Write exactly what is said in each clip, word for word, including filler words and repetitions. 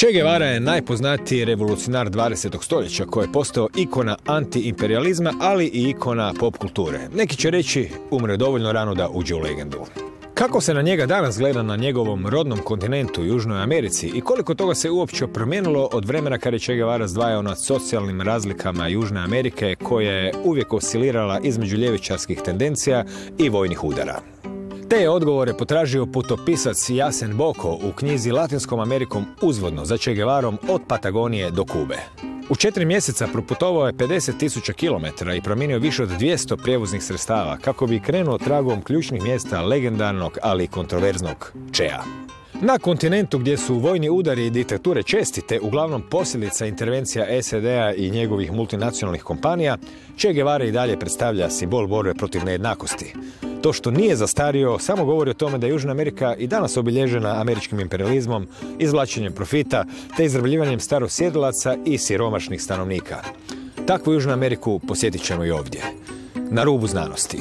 Che Guevara je najpoznatiji revolucionar dvadesetog stoljeća koji je postao ikona antiimperializma, ali i ikona pop kulture. Neki će reći umre dovoljno rano da uđe u legendu. Kako se na njega danas gleda na njegovom rodnom kontinentu, Južnoj Americi, i koliko toga se uopće promijenilo od vremena kada je Che Guevara zdvajao nad socijalnim razlikama Južne Amerike, koja je uvijek oscilirala između ljevičarskih tendencija i vojnih udara. Te je odgovore potražio putopisac Jasen Boko u knjizi Latinskom Amerikom uzvodno za Che Guevarom od Patagonije do Kube. U četiri mjeseca proputovao je pedeset tisuća kilometara i promijenio više od dvjesto prijevoznih sredstava kako bi krenuo tragom ključnih mjesta legendarnog, ali i kontroverznog Chea. Na kontinentu gdje su vojni udari i diktature česti, te uglavnom posljedica intervencija S A D-a i njegovih multinacionalnih kompanija, Che Guevara i dalje predstavlja simbol borbe protiv nejednakosti. To što nije zastario samo govori o tome da je Južna Amerika i danas obilježena američkim imperializmom, izvlačenjem profita te izrabljivanjem starosjedilaca i siromašnih stanovnika. Takvu Južnu Ameriku posjetit ćemo i ovdje, na rubu znanosti.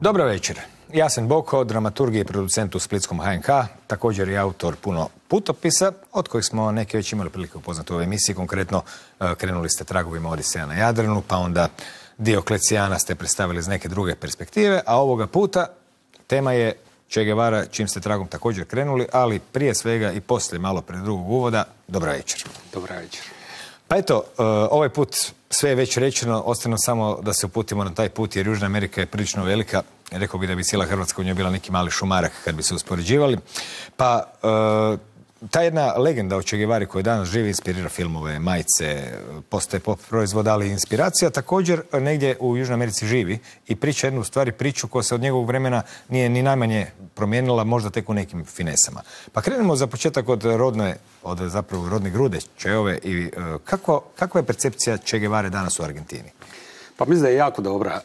Dobro večer. Jasen Boko, dramaturg i producent u splitskom H N K, također i autor puno putopisa, od kojih smo neke već imali prilike upoznati u ovoj emisiji. Konkretno, krenuli ste tragovima Odiseja na Jadranu, pa onda Dioklecijana ste predstavili iz neke druge perspektive, a ovoga puta tema je Che Guevara, čim ste tragom također krenuli, ali prije svega i poslije malo pred drugog uvoda. Dobra večer. Dobra večer. Pa eto, ovaj put sve je već rečeno, ostane samo da se uputimo na taj put, jer Južna Amerika je prilično velika. Rekao bi da bi cijela Hrvatska u njoj bila neki mali šumarak kad bi se uspoređivali. Pa ta jedna legenda o Che Guevari koji danas živi inspirira filmove, majice, postaje pop proizvod, ali i inspiracija također negdje u Južnoj Americi živi i priča jednu stvari, priču koja se od njegovog vremena nije ni najmanje promijenila, možda tek u nekim finesama. Pa krenemo za početak od rodne, od zapravo rodne grude Cheove i kako, kakva je percepcija Che Guevare danas u Argentini? Pa mislim da je jako dobra.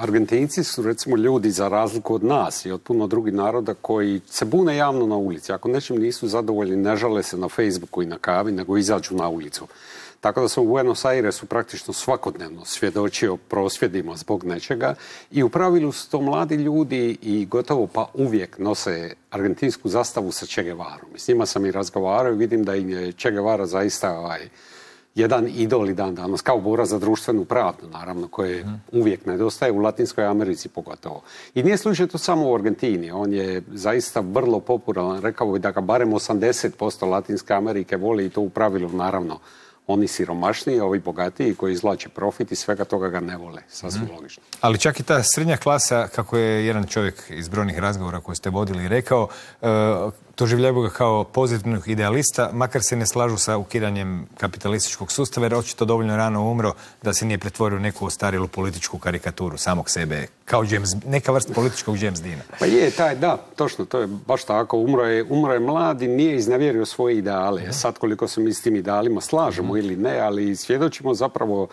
Argentinci su recimo ljudi za razliku od nas i od puno drugih naroda koji se bune javno na ulici. Ako nečim nisu zadovoljni, ne žale se na Facebooku i na kavi, nego izađu na ulicu. Tako da sam u Buenos Airesu praktično svakodnevno svjedočio prosvjedima zbog nečega i u pravilu su to mladi ljudi i gotovo pa uvijek nose argentinsku zastavu sa Che Guevarom. S njima sam i razgovarao i vidim da im je Che Guevara zaista ovaj, jedan idol i dan danas, kao bora za društvenu pravdu, naravno, koje uvijek nedostaje u Latinskoj Americi pogotovo. I nije slučaj to samo u Argentini, on je zaista vrlo popularan, rekao bi da ga barem osamdeset posto Latinske Amerike voli i to u pravilu, naravno, oni siromašniji, ovi bogatiji koji izvlače profit i svega toga ga ne vole, sasvim mm. logično. Ali čak i ta srednja klasa, kako je jedan čovjek iz brojnih razgovora koje ste vodili rekao, uh, doživljavaju ga kao pozitivnog idealista, makar se ne slažu sa ukidanjem kapitalističkog sustava, jer očito dovoljno rano umro da se nije pretvorio u neku ostarilu političku karikaturu samog sebe, kao James, neka vrsta političkog James Deana. Pa je, taj, da, točno, to je baš tako. Umro je, umro je mlad i nije iznevjerio svoje ideale. Mm. Sad koliko se mi s tim idealima slažemo mm. ili ne, ali svjedočimo zapravo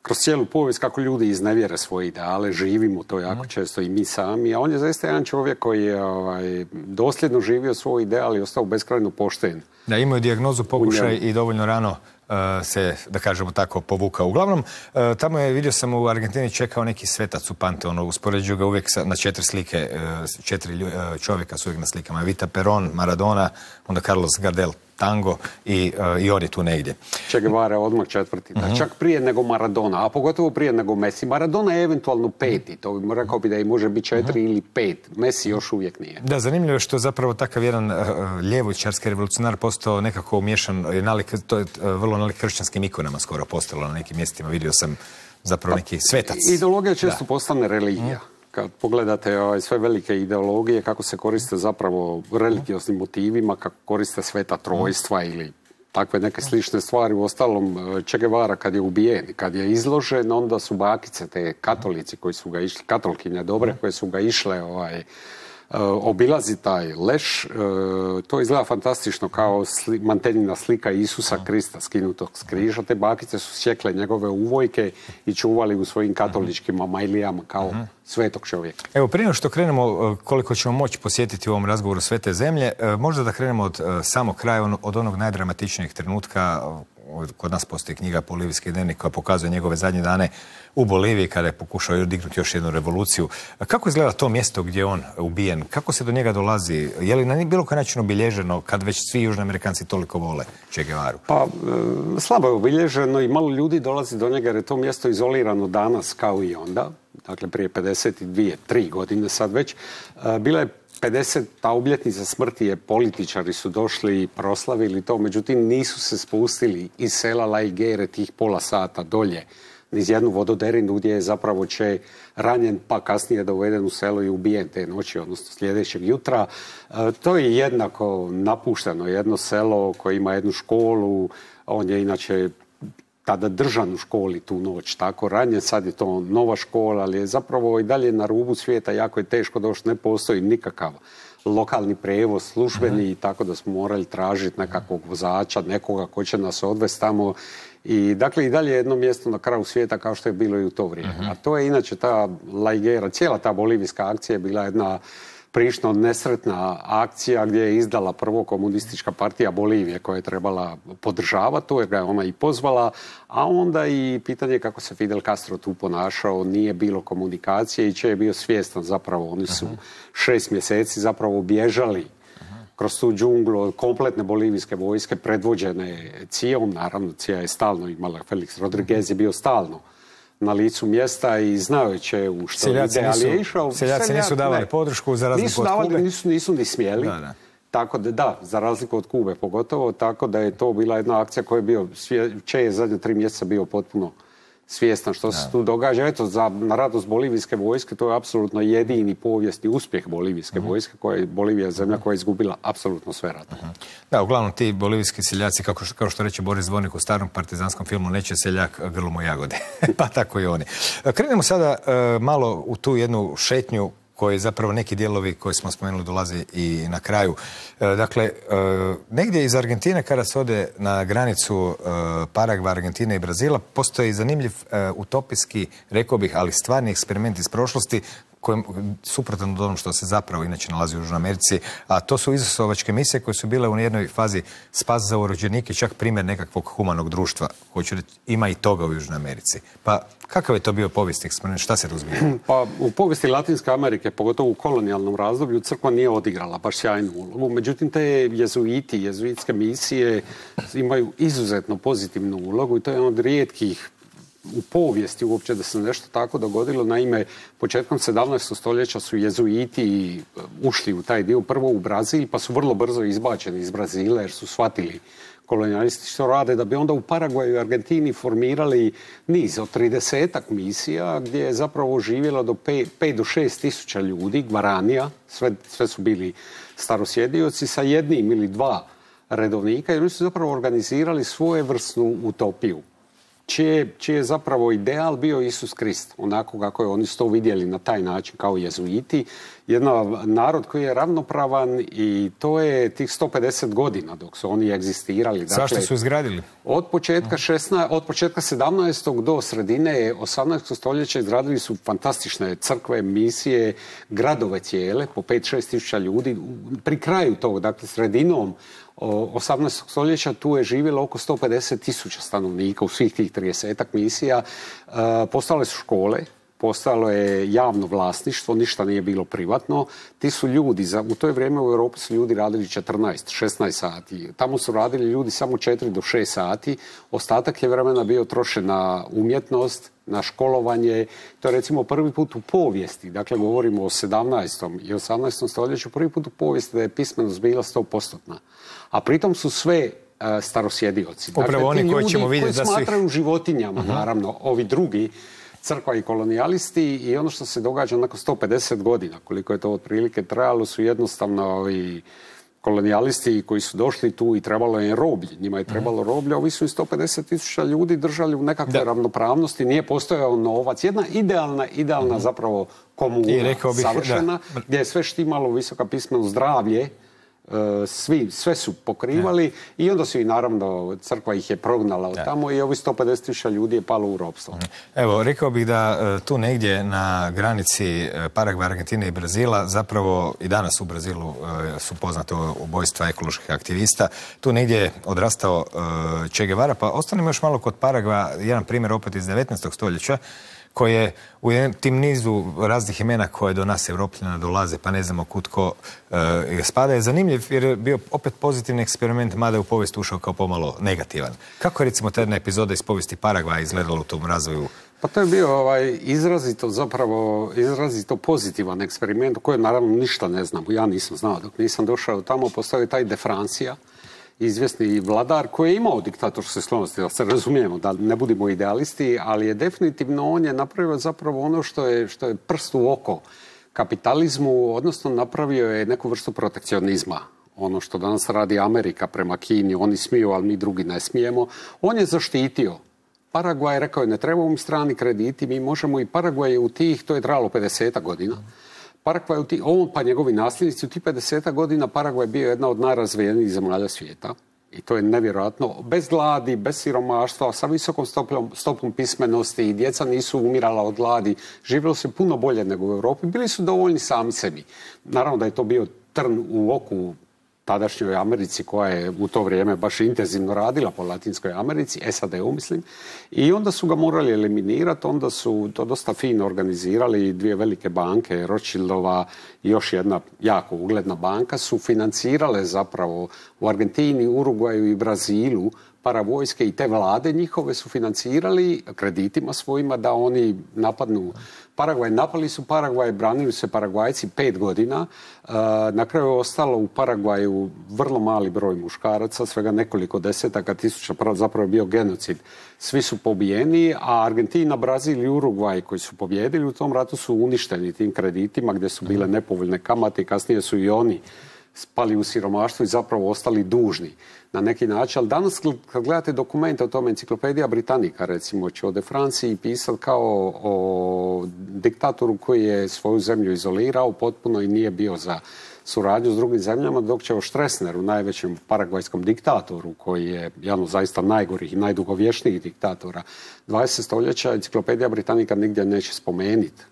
kroz cijelu povijest kako ljudi iznevjere svoje ideale, živimo to jako mm. često i mi sami, a on je zaista jedan čovjek koji je ovaj, dosljedno živio svoj ideal i ostao beskrajno pošten. Da, imao je dijagnozu, pokušaj i dovoljno rano uh, se, da kažemo tako, povukao. Uglavnom, uh, tamo je, vidio sam u Argentini čekao neki svetac u Panteonu, uspoređuju ga uvijek sa, na četiri slike, uh, četiri uh, čovjeka su uvijek na slikama. Evita Peron, Maradona, onda Carlos Gardel, tango i, uh, i on je tu negdje. Che Guevara odmah četvrti, mm -hmm. čak prije nego Maradona, a pogotovo prije nego Messi. Maradona je eventualno peti, to bi rekao bi da i može biti četiri mm -hmm. ili pet. Messi još uvijek nije. Da, zanimljivo je što zapravo takav jedan uh, ljevičarski revolucionar postao nekako umiješan, nalik, to je uh, vrlo nalik kršćanskim ikonama skoro postalo na nekim mjestima, vidio sam zapravo neki svetac. Ideologija često da. postane religija. Mm. Kad pogledate ovaj, sve velike ideologije, kako se koriste zapravo religioznim motivima, kako koriste sveta trojstva ili takve neke slične stvari. U ostalom, Che Guevara kad je ubijen, kad je izložen, onda su bakice, te katolici koji su ga išli, katolkinje dobre, koje su ga išle ovaj, obilazi taj leš. E, to izgleda fantastično kao sli, manteljina slika Isusa Krista skinutog s križa. Te bakice su sjekle njegove uvojke i čuvali u svojim katoličkim mamajlijama kao svetog čovjeka. Evo, prije što krenemo, koliko ćemo moći posjetiti u ovom razgovoru sve te zemlje, možda da krenemo od samog kraja, od onog najdramatičnijeg trenutka. Kod nas postoji knjiga Bolivijski dnevnik koja pokazuje njegove zadnje dane u Boliviji kada je pokušao dignuti još jednu revoluciju. Kako izgleda to mjesto gdje je on ubijen? Kako se do njega dolazi? Je li na bilo koji način obilježeno kad već svi Južni Amerikanci toliko vole Che Guevaru? Pa, e, slabo je obilježeno i malo ljudi dolazi do njega jer je to mjesto izolirano danas kao i onda. Dakle, prije pedeset dvije, tri godine sad već. E, bila je pedeseta obljetnica smrti je, političari su došli i proslavili to, međutim nisu se spustili iz sela La Higuera tih pola sata dolje niz jednu vododerinu gdje je zapravo Che ranjen pa kasnije doveden u selo i ubijen te noći, odnosno sljedećeg jutra. E, to je jednako napušteno, jedno selo koje ima jednu školu, on je inače tada držan u školi tu noć, tako ranjen, sad je to nova škola, ali je zapravo i dalje na rubu svijeta, jako je teško doći, ne postoji nikakav lokalni prijevoz, službeni, uh-huh. tako da smo morali tražiti nekakvog vozača, nekoga ko će nas odvesti tamo. I dakle i dalje jedno mjesto na kraju svijeta kao što je bilo i u to vrijeme. Uh-huh. A to je inače ta La Higuera, cijela ta bolivijska akcija je bila jedna prilično nesretna akcija gdje je izdala prvo komunistička partija Bolivije koja je trebala podržavati, to je ga ona i pozvala, a onda i pitanje kako se Fidel Castro tu ponašao, nije bilo komunikacije i Che je bio svjestan zapravo, oni su šest mjeseci zapravo bježali kroz tu džunglu od kompletne bolivijske vojske predvođene C I A-om, naravno C I A je stalno imala, Felix Rodriguez je bio stalno na licu mjesta i znao je Che u što seljaci ide, ali je nisu, išao... Seljaci nisu davali ne. podršku za razliku nisu od davali, Kube. Nisu, nisu ni smjeli. Da, da. Tako da, da, za razliku od Kube pogotovo, tako da je to bila jedna akcija koja je bio, Che je zadnje tri mjeseca bio potpuno svjestan što se tu događa. Eto, za, na radost bolivijske vojske, to je apsolutno jedini povijesni uspjeh bolivijske uh-huh. vojske, koja je Bolivija zemlja koja je izgubila apsolutno sve rata. Uh-huh. Da, uglavnom ti bolivijski seljaci, kako, kao što reče Boris Dvornik u starom partizanskom filmu, neće seljak grlom u jagode. Pa tako i oni. Krenemo sada uh, malo u tu jednu šetnju koji zapravo neki dijelovi koji smo spomenuli dolaze i na kraju. E, dakle, e, negdje iz Argentine kada se ode na granicu e, Paragva, Argentine i Brazila, postoji zanimljiv e, utopijski, rekao bih, ali stvarni eksperiment iz prošlosti kojem, suprotan od onom što se zapravo inače nalazi u Južnoj Americi, a to su izasovačke misije koje su bile u jednoj fazi spas za urođenike, čak primjer nekakvog humanog društva. Hoću reći, ima i toga u Južnoj Americi. Pa kakav je to bio povijesni eksperiment? Šta se razumije? Pa u povijesti Latinske Amerike, pogotovo u kolonijalnom razdoblju, crkva nije odigrala baš sjajnu ulogu. Međutim, te jezuiti, jezuitske misije imaju izuzetno pozitivnu ulogu i to je jedan od rijetkih u povijesti uopće da se nešto tako dogodilo. Naime, početkom sedamnaestog stoljeća su jezuiti ušli u taj dio prvo u Brazil, pa su vrlo brzo izbačeni iz Brazila jer su shvatili kolonijalisti što rade, da bi onda u Paraguaju i Argentini formirali niz od tridesetak misija gdje je zapravo živjelo do pet do šest tisuća ljudi, gvaranija, sve, sve su bili starosjedioci sa jednim ili dva redovnika i oni su zapravo organizirali svojevrsnu utopiju. Čije, čiji je zapravo ideal bio Isus Krist, onako kako je oni su to vidjeli na taj način kao jezuiti. Jedan narod koji je ravnopravan i to je tih sto pedeset godina dok su oni egzistirali. Dakle, zašto su izgradili? Od početka, šesnaestog, od početka sedamnaestog do sredine osamnaestog stoljeća izgradili su fantastične crkve, misije, gradove cijele, po pet do šest tisuća ljudi. Pri kraju tog, dakle sredinom osamnaestog stoljeća tu je živjelo oko sto pedeset tisuća stanovnika u svih tih tridesetak misija. E, postale su škole, postalo je javno vlasništvo, ništa nije bilo privatno. Ti su ljudi, za, u to vrijeme u Europi su ljudi radili četrnaest do šesnaest sati. Tamo su radili ljudi samo četiri do šest sati. Ostatak je vremena bio trošen na umjetnost, na školovanje. To je recimo prvi put u povijesti, dakle govorimo o sedamnaestom i osamnaestom stoljeću, prvi put u povijesti da je pismenost bila sto posto. A pritom su sve uh, starosjedioci. Upravo dakle, oni koji ćemo vidjeti da su... smatraju životinjama, uh-huh. naravno, ovi drugi, crkva i kolonijalisti, i ono što se događa nakon sto pedeset godina, koliko je to otprilike trajalo, su jednostavno ovi kolonijalisti koji su došli tu i trebalo je roblje, njima je trebalo roblje, ovi su i sto pedeset tisuća ljudi držali u nekakve ravnopravnosti, nije postojao novac. Jedna idealna, idealna mm-hmm. zapravo komuna, I rekao bih, savršena, da. gdje je sve štimalo, visoka pismenost, zdravlje, Svi, sve su pokrivali ja. i onda su i naravno crkva ih je prognala od ja. tamo i ovi sto pedeset tisuća ljudi je palo u ropstvo. Evo, rekao bih da tu negdje na granici Paragvaja, Argentine i Brazila, zapravo i danas u Brazilu su poznate ubojstva ekoloških aktivista. Tu negdje je odrastao Che Guevara, pa ostanemo još malo kod Paragvaja, jedan primjer opet iz devetnaestog stoljeća, koje u tim nizu raznih imena koje do nas Evropljana dolaze, pa ne znamo kud ko e, spada, je zanimljiv jer je bio opet pozitivni eksperiment, mada je u povijest ušao kao pomalo negativan. Kako je recimo ta jedna epizoda iz povijesti Paragvaja izgledala u tom razvoju? Pa to je bio ovaj, izrazito zapravo, izrazito pozitivan eksperiment o kojem naravno ništa ne znam. Ja nisam znao dok nisam došao tamo, postao je taj De Francia, izvjesni vladar koji je imao diktatorske sklonosti, da se razumijemo, da ne budemo idealisti, ali je definitivno on je napravio zapravo ono što je, što je prst u oko kapitalizmu, odnosno napravio je neku vrstu protekcionizma. Ono što danas radi Amerika prema Kini, oni smiju, ali mi drugi ne smijemo. On je zaštitio. Paragvaj rekao je, ne trebamo mi strani krediti, mi možemo i Paragvaj je u tih, to je trajalo pedeset godina. Paragvaj, on pa njegovi nasljednici, u tih pedeset godina Paragvaj je bio jedna od najrazvijenijih zemalja svijeta. I to je nevjerojatno. Bez gladi, bez siromaštva, sa visokom stopom, stopom pismenosti, djeca nisu umirala od gladi, živjelo se puno bolje nego u Europi. Bili su dovoljni sami sebi. Naravno da je to bio trn u oku tadašnjoj Americi koja je u to vrijeme baš intenzivno radila po Latinskoj Americi, S A D-u mislim, i onda su ga morali eliminirati, onda su to dosta fino organizirali, dvije velike banke, Rothschildova i još jedna jako ugledna banka su financirale zapravo u Argentini, Urugvaju i Brazilu paravojske i te vlade njihove su financirali kreditima svojima da oni napadnu Paragvaj. Napali su Paragvaj, branili se Paragvajci pet godina. Na kraju je ostalo u Paragvaju vrlo mali broj muškaraca, svega nekoliko desetaka tisuća, zapravo je bio genocid. Svi su pobijeni, a Argentina, Brazil i Urugvaj koji su pobjedili u tom ratu su uništeni tim kreditima gdje su bile nepovoljne kamate i kasnije su i oni spali u siromaštvo i zapravo ostali dužni na neki način. Ali danas kad gledate dokumente o tome, Enciklopedija Britanika recimo će o De Franciji pisati kao o diktatoru koji je svoju zemlju izolirao potpuno i nije bio za suradnju s drugim zemljama, dok će o Stroessneru, najvećem paragvajskom diktatoru koji je jedan od zaista najgorih i najdugovječnijih diktatora dvadesetog stoljeća, Enciklopedija Britanika nigdje neće spomenuti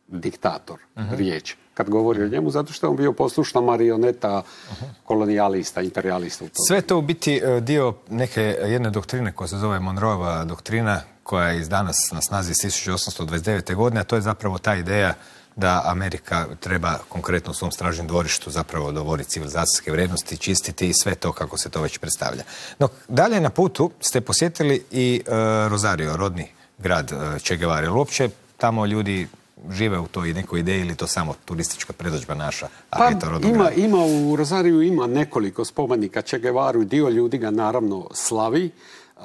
diktator uh-huh. riječ kad govori o njemu, zato što je on bio poslušna marioneta uh-huh. kolonijalista, imperijalista. U tom. Sve to u biti dio neke jedne doktrine koja se zove Monroeva doktrina, koja je iz danas na snazi iz tisuću osamsto dvadeset devete. godine, a to je zapravo ta ideja da Amerika treba konkretno u svom stražnjem dvorištu zapravo dovoditi civilizacijske vrijednosti, čistiti i sve to kako se to već predstavlja. No, dalje na putu ste posjetili i uh, Rosario, rodni grad uh, Che Guevare. Uopće tamo ljudi žive u toj nekoj ideji ili to samo turistička predodžba naša? Pa ima, ima u Rosariju ima nekoliko spomenika Che Guevaru i dio ljudi ga naravno slavi. Uh,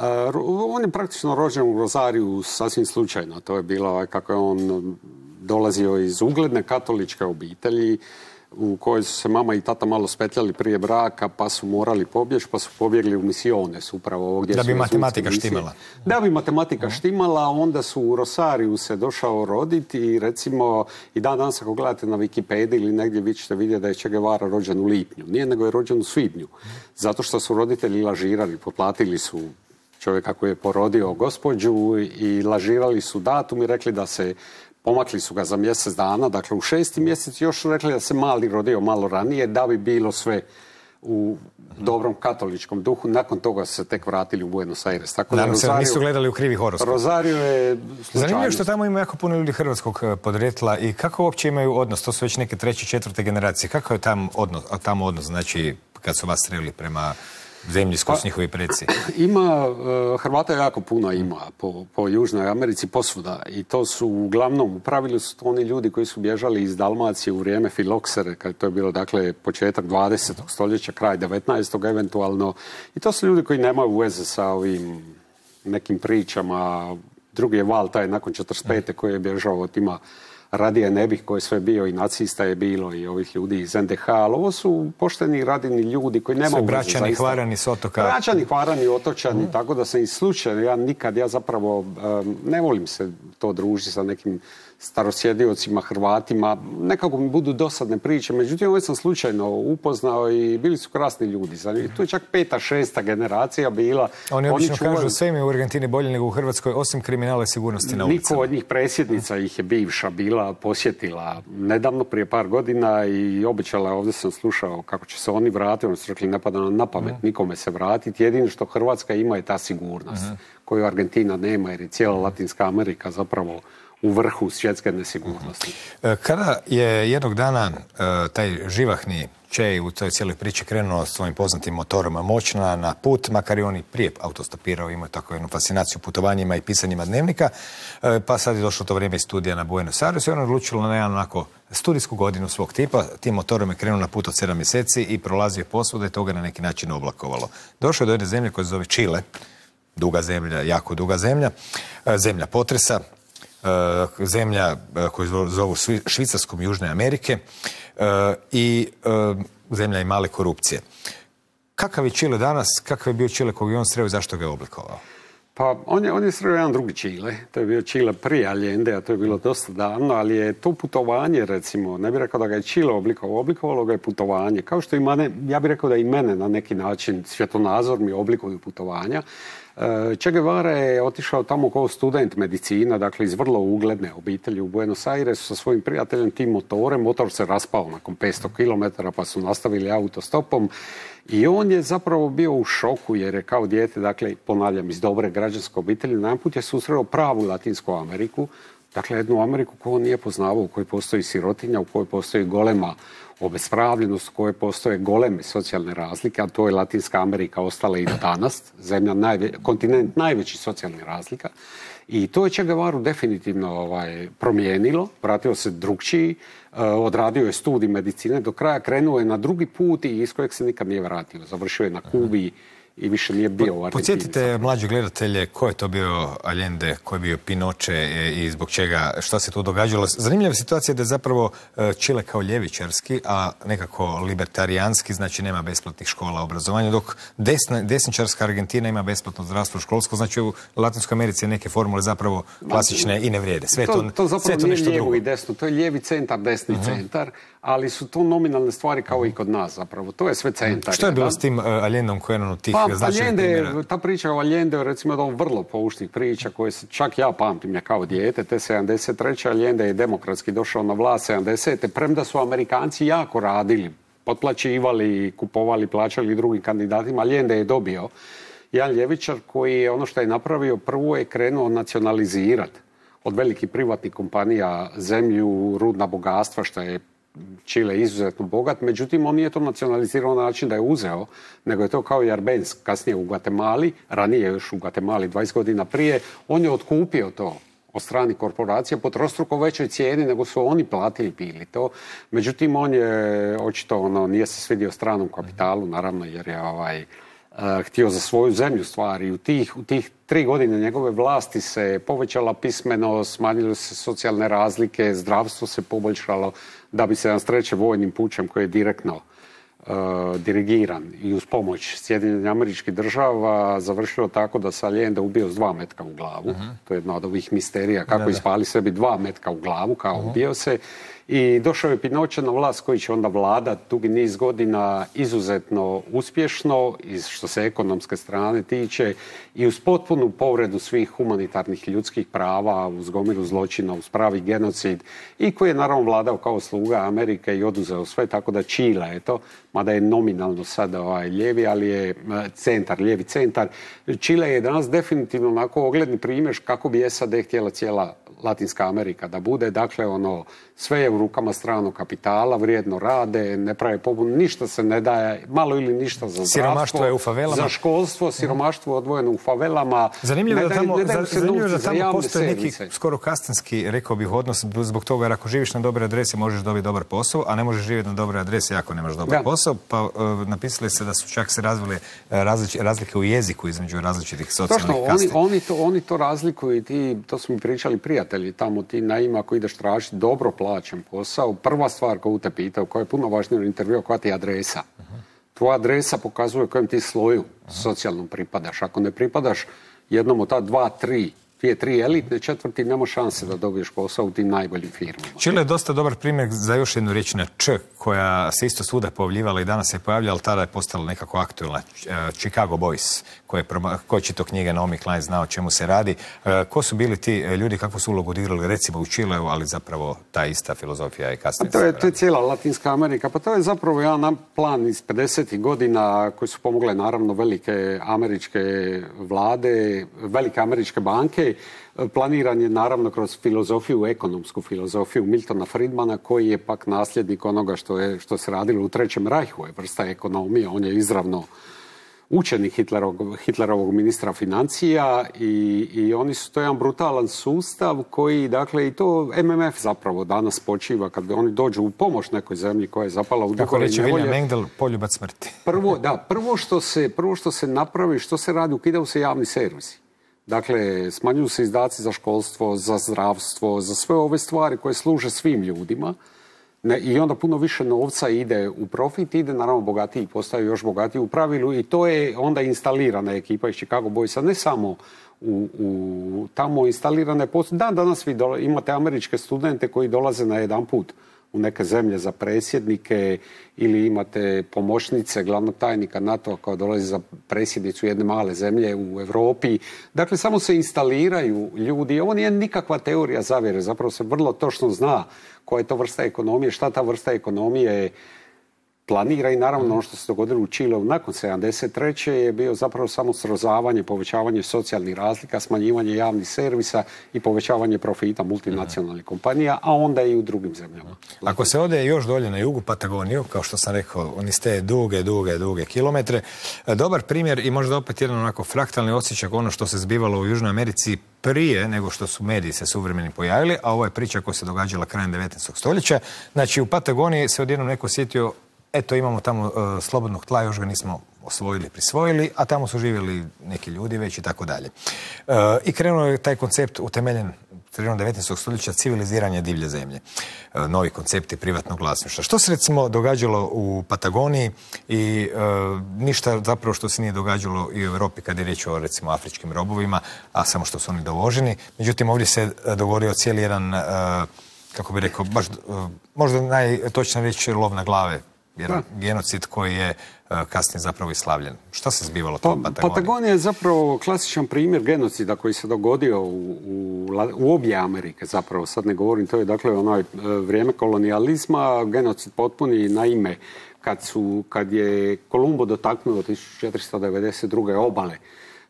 on je praktično rođen u Rosariju sasvim slučajno. To je bilo kako je on dolazio iz ugledne katoličke obitelji u kojoj su se mama i tata malo spetljali prije braka, pa su morali pobjeći, pa su pobjegli u misiones upravo ovdje. Da bi matematika štimala. Da bi matematika uh-huh. štimala, onda su u Rosariju se došao roditi i recimo i dan danas ako gledate na Wikipediji ili negdje vi ćete vidjeti da je Che Guevara rođen u lipnju. Nije, nego je rođen u svibnju. Zato što su roditelji lažirali, potplatili su čovjeka koji je porodio gospođu i lažirali su datum i rekli da se pomakli su ga za mjesec dana, dakle u šesti mjesec još su rekli da se mali rodio malo ranije, da bi bilo sve u dobrom katoličkom duhu. Nakon toga su se tek vratili u Buenos Aires. Tako da Rosario, nisu gledali u krivi horoskop. Rosario je slučajnost. Zanimljivo je što tamo ima jako puno ljudi hrvatskog podrijetla i kako uopće imaju odnos? To su već neke treće, četvrte generacije. Kako je tam odnos, tamo odnos, znači kad su vas sreli prema zemlji s kojoj su njihovi preci? Ima, Hrvata jako puno ima po, po Južnoj Americi posvuda i to su uglavnom, u pravilu su to oni ljudi koji su bježali iz Dalmacije u vrijeme filoksere, kad to je bilo dakle početak dvadesetog stoljeća, kraj devetnaestog eventualno, i to su ljudi koji nemaju veze sa ovim nekim pričama. Drugi je val taj nakon četrdeset pete koji je bježao od tima radije ne bih, koji sve bio i nacista je bilo i ovih ljudi iz en de ha, ali ovo su pošteni, radini ljudi koji nema sve braćani, hvarani s otoka. Braćani, hvarani, otočani, mm. tako da sam i slučajno, ja nikad, ja zapravo um, ne volim se to družiti sa nekim starosjediocima, Hrvatima, nekako mi budu dosadne priče, međutim ovo sam slučajno upoznao i bili su krasni ljudi. Tu je čak peta, šesta generacija bila. Oni obično čuvali... kažu sve mi u Argentini bolje nego u Hrvatskoj, osim kriminala i sigurnosti na ulicama. Niko od njih predsjednica ih je bivša bila, posjetila nedavno prije par godina i obećala, ovdje sam slušao kako će se oni vratiti, oni su rekli ne pada nam na pamet mm. nikome se vratiti, jedino što Hrvatska ima je ta sigurnost mm. koju Argentina nema jer je cijela Latinska Amerika zapravo u vrhu svjetske nesigurnosti. Kada je jednog dana taj živahni Che u toj cijeloj priči krenuo svojim poznatim motorom moćna na put, makar i oni prije autostopirao, imao tako jednu fascinaciju putovanjima i pisanjima dnevnika, pa sad je došlo to vrijeme iz studija na Buenos Aires i ono odlučilo na jedan onako studijsku godinu svog tipa. Tim motorom je krenuo na put od sedam mjeseci i prolazio posvuda i toga na neki način oblakovalo. Došao je do jedne zemlje koja se zove Čile, duga zemlja, jako duga zemlja, zemlja potresa, zemlja koju zovu Švicarskom Južne Amerike i zemlja i male korupcije. Kakav je Čile danas, kakav je bio Čile kog je on sreo i zašto ga je oblikovao? Pa on je, on je sreo jedan drugi Čile. To je bio Čile prije Allende, a to je bilo dosta davno, ali je to putovanje, recimo, ne bih rekao da ga je Čile oblikovalo, oblikovalo ga je putovanje. Kao što i mene, ja bih rekao da i mene na neki način svjetonazor mi oblikuju putovanja. Che Guevara je otišao tamo kao student medicina, dakle iz vrlo ugledne obitelji u Buenos Airesu sa svojim prijateljem tim motorem. Motor se raspao nakon petsto kilometara pa su nastavili autostopom i on je zapravo bio u šoku jer je kao dijete, dakle ponavljam, iz dobre građanske obitelji, najedanput je susreo pravu Latinsku Ameriku, dakle jednu Ameriku koju on nije poznavao, u kojoj postoji sirotinja, u kojoj postoji golema obespravljenost, u kojoj postoje goleme socijalne razlike, a to je Latinska Amerika ostala i danas, zemlja, najve, kontinent najvećih socijalnih razlika. I to je Che Guevaru definitivno ovaj, promijenilo, vratio se drugčiji, uh, odradio je studij medicine, do kraja krenuo je na drugi put i iz kojeg se nikad nije vratio. Završio je na Kubi i više nije bio u Argentini. Podsjetite mlađe gledatelje ko je to bio Allende, ko je bio Pinoche i zbog čega, šta se tu događalo. Zanimljiva situacija da je zapravo Čile kao ljevičarski, a nekako libertarijanski, znači nema besplatnih škola obrazovanja, dok desna, desničarska Argentina ima besplatno zdravstvo školsko, znači u Latinskoj Americi neke formule zapravo klasične i ne vrijede. Sve to, to, to zapravo sve to nije nešto lijevo drugo. I desno, to je lijevi centar, desni uh-huh. centar, ali su to nominalne stvari kao i kod nas zapravo. To je sve centar. Što je bilo s tim uh, Allendom koji je jedan od tih pa, značajnih primjera? Ta priča o Allende, recimo, je vrlo poučnih priča koje se, čak ja pamtim je kao dijete, te sedamdeset treće Allende je demokratski došao na vlast sedamdesete premda su Amerikanci jako radili, potplaćivali, kupovali, plaćali drugim kandidatima. Allende je dobio jedan ljevičar koji je ono što je napravio, prvo je krenuo nacionalizirati od velikih privatnih kompanija zemlju, rudna bogatstva, što je Čile izuzetno bogat, međutim on nije to nacionalizirao na način da je uzeo, nego je to kao i Arbenz kasnije u Guatemali, ranije još u Guatemali dvadeset godina prije, on je otkupio to od stranih korporacija po trostruko većoj cijeni nego su oni platili bili to. Međutim, on je očito ono, nije se svidio stranom kapitalu, naravno, jer je ovaj, uh, htio za svoju zemlju stvari. U tih, u tih tri godine njegove vlasti se povećala pismenost, smanjile se socijalne razlike, zdravstvo se poboljšalo, da bi se nas vojnim pučem koji je direktno uh, dirigiran i uz pomoć Sjedinjenih Američkih Država završilo tako da se Allende ubio s dva metka u glavu. Uh-huh. To je jedna od ovih misterija kako da, ispali sebi dva metka u glavu, kao uh-huh. ubio se. I došao je Pinoche na vlast koji će onda vladati dugi niz godina izuzetno uspješno, iz što se ekonomske strane tiče, i uz potpunu povredu svih humanitarnih ljudskih prava, uz gomilu zločina, uz pravi genocid, i koji je naravno vladao kao sluga Amerike i oduzeo sve, tako da Čile, eto, mada je nominalno sada ovaj lijevi, ali je centar, lijevi centar. Čile je danas definitivno onako ogledni primjer kako bi S A D htjela cijela Latinska Amerika da bude, dakle ono, sve je u rukama stranog kapitala, vrijedno rade, ne prave pobunu, ništa se ne daje, malo ili ništa za zdravstvo, siromaštvo je u favelama, za školstvo, siromaštvo je odvojeno u favelama. Zanimljivo je da tamo, za, zanimljivo da tamo postoji neki skoro kastenski, rekao bih, odnos zbog toga, jer ako živiš na dobroj adresi možeš dobiti dobar posao, a ne možeš živjeti na dobroj adresi ako nemaš dobar da. posao, pa uh, napisali se da su čak se razvile uh, različ, razlike u jeziku između različitih socijalnih kasta. Oni, oni, to, oni to razlikuju i ti, to smo mi pričali prije, prijatelji tamo, ti naima ako ideš tražiti dobro plaćen posao, prva stvar koju te pitao, koja je puno važnija u intervju, koja ti je adresa. Uh-huh. Tvoja adresa pokazuje kojem ti sloju uh-huh. socijalnom pripadaš. Ako ne pripadaš jednom od ta dva, tri, dvije, tri elitne četvrti, nema šanse da dobiješ posao u tim najboljim firmama. Čile je dosta dobar primjer za još jednu riječ na Č, koja se isto svuda pojavljivala i danas se pojavlja, ali tada je postala nekako aktualna. Chicago Boys, koji je čitao knjige Naomi Klein, zna o čemu se radi. Ko su bili ti ljudi, kakvu su ulogu odigrali recimo u Čileu, ali zapravo ta ista filozofija i kasnije. To je, to je cijela Latinska Amerika, pa to je zapravo jedan plan iz pedesetih godina koji su pomogle naravno velike američke vlade, velike američke banke. Planiran je naravno kroz filozofiju, ekonomsku filozofiju Miltona Friedmana, koji je pak nasljednik onoga što, je, što se radilo u Trećem rajhu, je vrsta ekonomije. On je izravno učenik Hitlerovog, Hitlerovog ministra financija i, i oni su, to je jedan brutalan sustav koji, dakle, i to M M F zapravo danas počiva kad oni dođu u pomoć nekoj zemlji koja je zapala u duhovne nevolje. William Engdahl, poljubac smrti. Prvo, da, prvo što se, prvo što se napravi, što se radi, ukidaju se javni servisi. Dakle, smanjuju se izdaci za školstvo, za zdravstvo, za sve ove stvari koje služe svim ljudima. Ne, i onda puno više novca ide u profit, ide naravno bogatiji, postaju još bogatiji u pravilu i to je onda instalirana ekipa iz Chicago Boysa, ne samo u, u tamo instalirane postoje. Dan danas vi dola, imate američke studente koji dolaze na jedan put u neke zemlje za predsjednike ili imate pomoćnice glavnog tajnika NATO-a koja dolazi za predsjednicu jedne male zemlje u Europi. Dakle, samo se instaliraju ljudi. Ovo nije nikakva teorija zavjere, zapravo se vrlo točno zna koja je to vrsta ekonomije, šta ta vrsta ekonomije planira i naravno ono što se dogodilo u Čileu nakon sedamdeset treće je bio zapravo samo srozavanje, povećavanje socijalnih razlika, smanjivanje javnih servisa i povećavanje profita multinacionalnih kompanija, a onda i u drugim zemljama. Ako se ode još dolje na jugu Patagoniju, kao što sam rekao, oni ste duge, duge, duge kilometre, dobar primjer i možda opet jedan onako fraktalni osjećak ono što se zbivalo u Južnoj Americi prije nego što su mediji se suvremeni pojavili, a ovo je priča koja se događala krajem devetnaestog stoljeća. Znači u Patagoniji se odjednom neko sjetio, eto imamo tamo uh, slobodnog tla, još ga nismo osvojili, prisvojili, a tamo su živjeli neki ljudi već i tako dalje. Uh, I krenuo je taj koncept utemeljen sredinom devetnaestog stoljeća civiliziranja divlje zemlje. Uh, novi koncepti privatnog vlasništva. Što se recimo događalo u Patagoniji i uh, ništa zapravo što se nije događalo i u Europi kad je riječ o recimo afričkim robovima, a samo što su oni dovoženi. Međutim, ovdje se dogodio cijeli jedan, uh, kako bi rekao, baš, uh, možda najtočnije reći lov na glave. Jedan genocid koji je uh, kasnije zapravo islavljen. Šta se zbivalo to u Patagoniji? Patagonija je zapravo klasičan primjer genocida koji se dogodio u, u, u obje Amerike zapravo. Sad ne govorim, to je dakle ono vrijeme kolonijalizma, genocid potpuni naime kad, su, kad je Kolumbo dotaknuo tisuću četiristo devedeset druge obale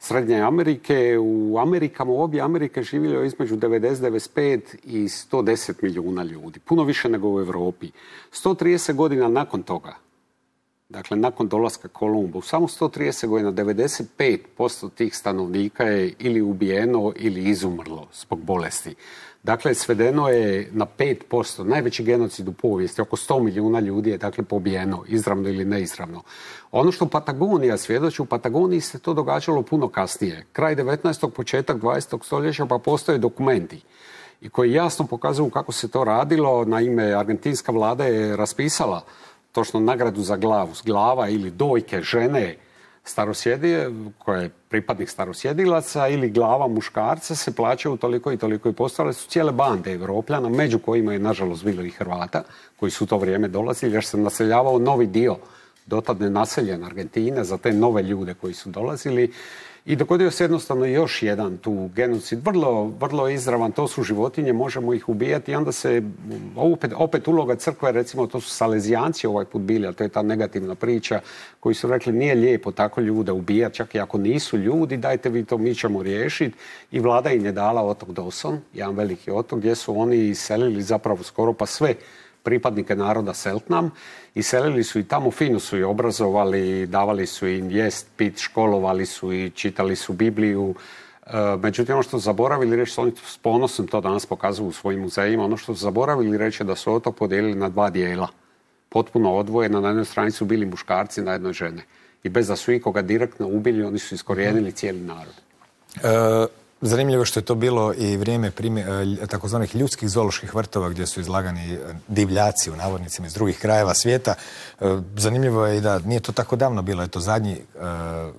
Srednje Amerike. U Amerikama, u obje Amerike živjelo između devedeset do devedeset pet i sto deset milijuna ljudi. Puno više nego u Europi. sto trideset godina nakon toga, dakle nakon dolaska Kolumba, u samo sto trideset godina devedeset pet posto tih stanovnika je ili ubijeno ili izumrlo zbog bolesti. Dakle, svedeno je na pet posto, najveći genocid u povijesti, oko sto milijuna ljudi je dakle pobijeno, izravno ili neizravno. Ono što Patagonija svjedoči, u Patagoniji se to događalo puno kasnije. Kraj devetnaestog, početak dvadesetog stoljeća, pa postoje dokumenti i koji jasno pokazuju kako se to radilo. Naime, argentinska vlada je raspisala točno nagradu za glavu, glava ili dojke žene starosjedije, koja je pripadnik starosjedilaca, ili glava muškarca se plaćaju toliko i toliko i postale su cijele bande Evropljana, među kojima je nažalost bilo i Hrvata, koji su u to vrijeme dolazili, jer se naseljavao novi dio dotad nenaseljen Argentine za te nove ljude koji su dolazili. I dogodio se jednostavno još jedan tu genocid, vrlo, vrlo izravan, to su životinje, možemo ih ubijati i onda se opet, opet uloga crkve, recimo to su Salezijanci ovaj put bili, a to je ta negativna priča, koji su rekli nije lijepo tako ljude ubijati, čak i ako nisu ljudi, dajte vi to, mi ćemo riješiti. I vlada im je dala otok Dawson, jedan veliki otok, gdje su oni iselili zapravo skoro pa sve pripadnike naroda Selknam. Iselili su i tamo, fino su i obrazovali, davali su im jest, pit, školovali su i čitali su Bibliju. E, međutim, ono što su zaboravili reći, oni s ponosom to danas pokazuju u svojim muzejima, ono što su zaboravili reći da su otok podijelili na dva dijela. Potpuno odvojeno, na jednoj strani su bili muškarci, na jednoj žene. I bez da su ikoga direktno ubili, oni su iskorijenili cijeli narod. E... Zanimljivo što je to bilo i vrijeme takozvanih ljudskih zooloških vrtova gdje su izlagani divljaci u navodnicima iz drugih krajeva svijeta. Zanimljivo je i da nije to tako davno bilo. Eto, zadnji uh,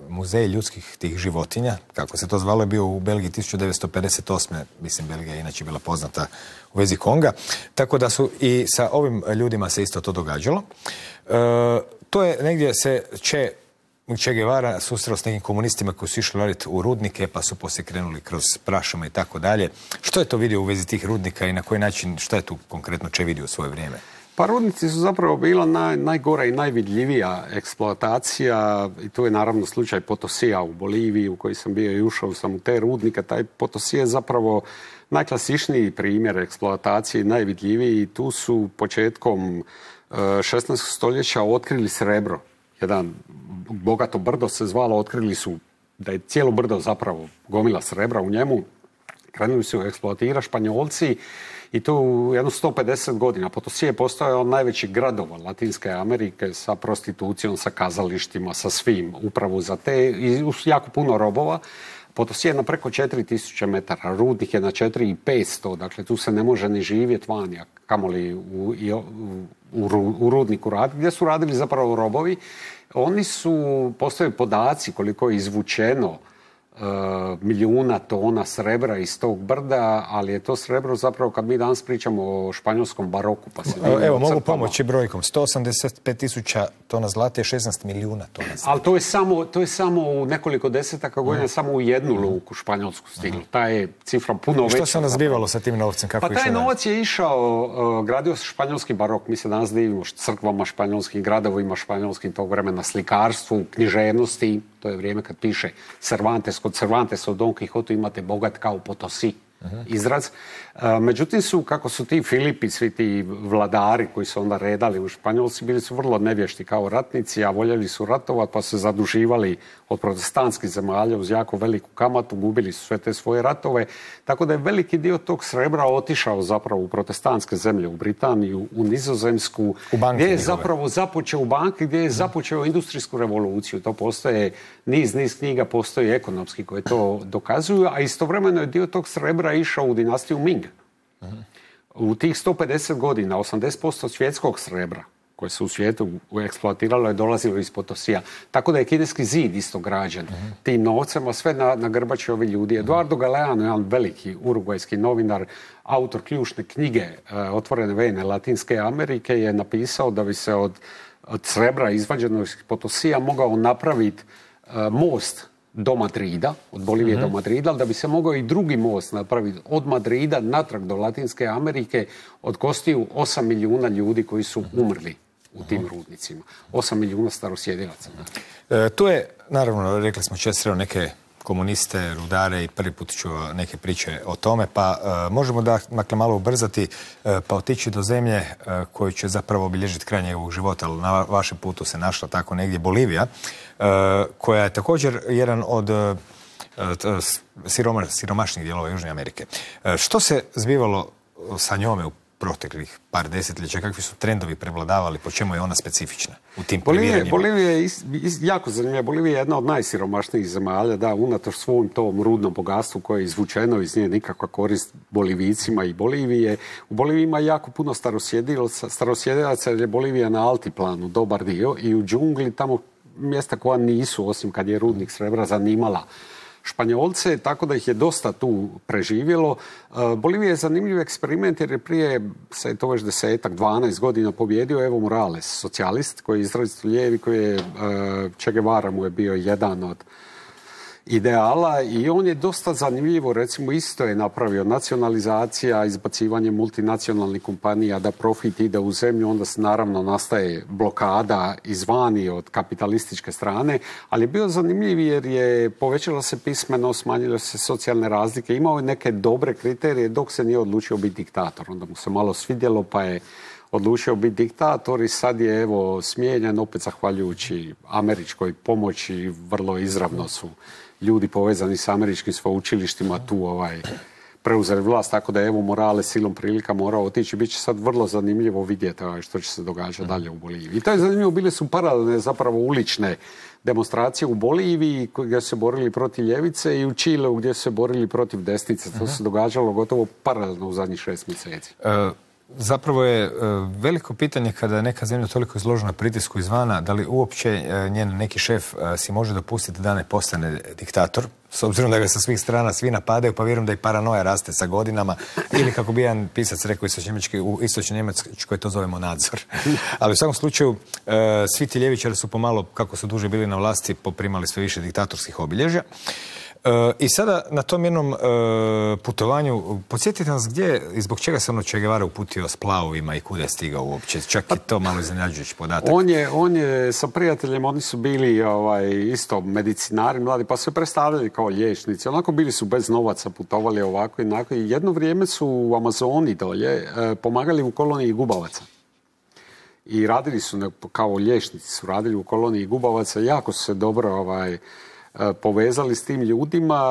muzej ljudskih tih životinja, kako se to zvalo, je bio u Belgiji tisuću devetsto pedeset osme. Mislim, Belgija je inače bila poznata u vezi Konga. Tako da su i sa ovim ljudima se isto to događalo. Uh, to je negdje se će Che Guevara susreo s nekim komunistima koji su išli raditi u rudnike, pa su poslije krenuli kroz prašume i tako dalje. Što je to vidio u vezi tih rudnika i na koji način, što je tu konkretno Che vidio u svoje vrijeme? Pa rudnici su zapravo bila naj, najgora i najvidljivija eksploatacija i tu je naravno slučaj Potosija u Boliviji u koji sam bio i ušao sam u te rudnike. Taj Potosija je zapravo najklasičniji primjer eksploatacije i najvidljiviji. Tu su početkom šesnaestog stoljeća otkrili srebro. Jedan bogato brdo se zvalo, otkrili su da je cijelo brdo zapravo gomila srebra u njemu. Krenuli su eksploatirati Španjolci i to u jedno sto pedeset godina. Potosije je postojao najvećih gradova Latinske Amerike sa prostitucijom, sa kazalištima, sa svim, upravo za te i jako puno robova. Potosije je na preko četiri tisuće metara, rudnik je na četiri tisuće petsto, dakle tu se ne može ni živjeti vani, a kamoli u, u, u, u rudniku raditi, gdje su radili zapravo robovi. Oni su, postoje podaci koliko je izvučeno e, milijuna tona srebra iz tog brda, ali je to srebro zapravo, kad mi danas pričamo o španjolskom baroku, pa se Evo, evo mogu pomoći brojkom. sto osamdeset pet tisuća tona zlata i šesnaest milijuna tona srebra. Ali to je samo, to je samo u nekoliko desetaka godina, mm. samo u jednu luku španjolsku stiglo. Ta je cifra puno veća. Što se onda zbivalo sa tim novcem? Kako pa taj novac je išao, uh, gradio se španjolski barok. Mi se danas divimo crkvama španjolskim, gradovima španjolskim tog vremena, slikarstvu, književnosti. To je vrijeme kad piše Cervantes. Kod Cervantesa u Don Quixotu imate bogat kao Potosí. Uh-huh. Izraz. Uh, međutim su, kako su ti Filipi, svi ti vladari koji su onda redali u Španjolci, bili su vrlo nevješti kao ratnici, a voljeli su ratovati, pa su se zaduživali od protestantskih zemalja uz jako veliku kamatu, gubili su sve te svoje ratove, tako da je veliki dio tog srebra otišao zapravo u protestantske zemlje, u Britaniju, u Nizozemsku, u banke, gdje je zapravo započeo u banke, gdje je započeo industrijsku revoluciju. To postoje niz, niz knjiga, postoji ekonomski koje to dokazuju, a istovremeno je dio tog srebra išao u dinastiju Ming. Uh-huh. U tih sto pedeset godina, osamdeset posto svjetskog srebra koje se u svijetu eksploatiralo je dolazilo iz Potosija. Tako da je kineski zid isto građen uh-huh. tim novcem, a sve na, na grbači ovi ljudi. Uh-huh. Eduardo Galeano, jedan veliki urugvajski novinar, autor ključne knjige uh, Otvorene vene Latinske Amerike, je napisao da bi se od, od srebra izvađenog iz Potosija mogao napraviti uh, most do Madrida, od Bolivije mm-hmm. do Madrida, ali da bi se mogao i drugi most napraviti od Madrida natrag do Latinske Amerike, od kostiju osam milijuna ljudi koji su umrli u tim mm-hmm. rudnicima. osam milijuna starosjedilaca. E, tu je, naravno, rekli smo često sreo neke komuniste, rudare i prvi put ću neke priče o tome, pa e, možemo da, dakle, malo ubrzati e, pa otići do zemlje e, koju će zapravo obilježiti kraj njegovog života, ali na vašem putu se našla tako negdje Bolivija, e, koja je također jedan od e, siroma, siromašnih dijelova Južne Amerike. E, što se zbivalo sa njome u proteklih par desetljeća, kakvi su trendovi prevladavali, po čemu je ona specifična u tim premijeranjima? Bolivija je is, is, jako zanimljiva. Bolivija je jedna od najsiromašnijih zemalja, da, unatoč svom tom rudnom bogatstvu koje je izvučeno iz nje nikakva korist Bolivicima i Bolivije. U Boliviji ima jako puno starosjedilaca, starosjedilaca jer je Bolivija na altiplanu, dobar dio, i u džungli tamo mjesta koja nisu, osim kad je rudnik srebra, zanimala Španjolce, tako da ih je dosta tu preživjelo. Bolivija je zanimljiv eksperiment jer je prije, sad je to već desetak, dvanaest godina pobjedio Evo Morales, socijalist koji je izrazito lijevi, koji je, Che Guevara mu je bio jedan od ideala i on je dosta zanimljivo, recimo isto je napravio nacionalizacija, izbacivanje multinacionalnih kompanija da profit ide u zemlju, onda se naravno nastaje blokada izvani od kapitalističke strane, ali je bio zanimljiv jer je povećala se pismenost, smanjile se socijalne razlike, imao je neke dobre kriterije dok se nije odlučio biti diktator, onda mu se malo svidjelo pa je odlučio biti diktator i sad je evo smijenjen opet zahvaljujući američkoj pomoći, vrlo izravno su ljudi povezani s američkim sveučilištima tu ovaj, preuzeli vlast, tako da je Evo Morales silom prilika morao otići. Biće sad vrlo zanimljivo vidjeti što će se događati dalje u Boliviji. I to je zanimljivo, bile su paralelne zapravo ulične demonstracije u Boliviji gdje su se borili protiv ljevice i u Čileu gdje su se borili protiv desnice. To se događalo gotovo paralelno u zadnjih šest mjeseci. Uh... Zapravo je veliko pitanje kada je neka zemlja toliko izložena pritisku izvana, da li uopće njen neki šef si može dopustiti da ne postane diktator, s obzirom da ga sa svih strana svi napadaju, pa vjerujem da i paranoja raste sa godinama, ili kako bi jedan pisac rekao u istočnoj Njemačkoj to zovemo nadzor. Ali u svakom slučaju svi ti ljevičari su pomalo, kako su duže bili na vlasti, poprimali sve više diktatorskih obilježja. I sada na tom jednom putovanju, podsjetite nas gdje i zbog čega se ono Che Guevara uputio s plavovima i kuda je stigao uopće, čak i to malo iznenađujući podatak. On je, on je sa prijateljem, oni su bili ovaj, isto medicinari mladi, pa su se predstavljali kao liječnici, onako bili su bez novaca, putovali ovako i onako i jedno vrijeme su u Amazoni dolje pomagali u koloniji gubavaca. I radili su, kao liječnici su radili u koloniji gubavaca, jako su se dobro ovaj, povezali s tim ljudima,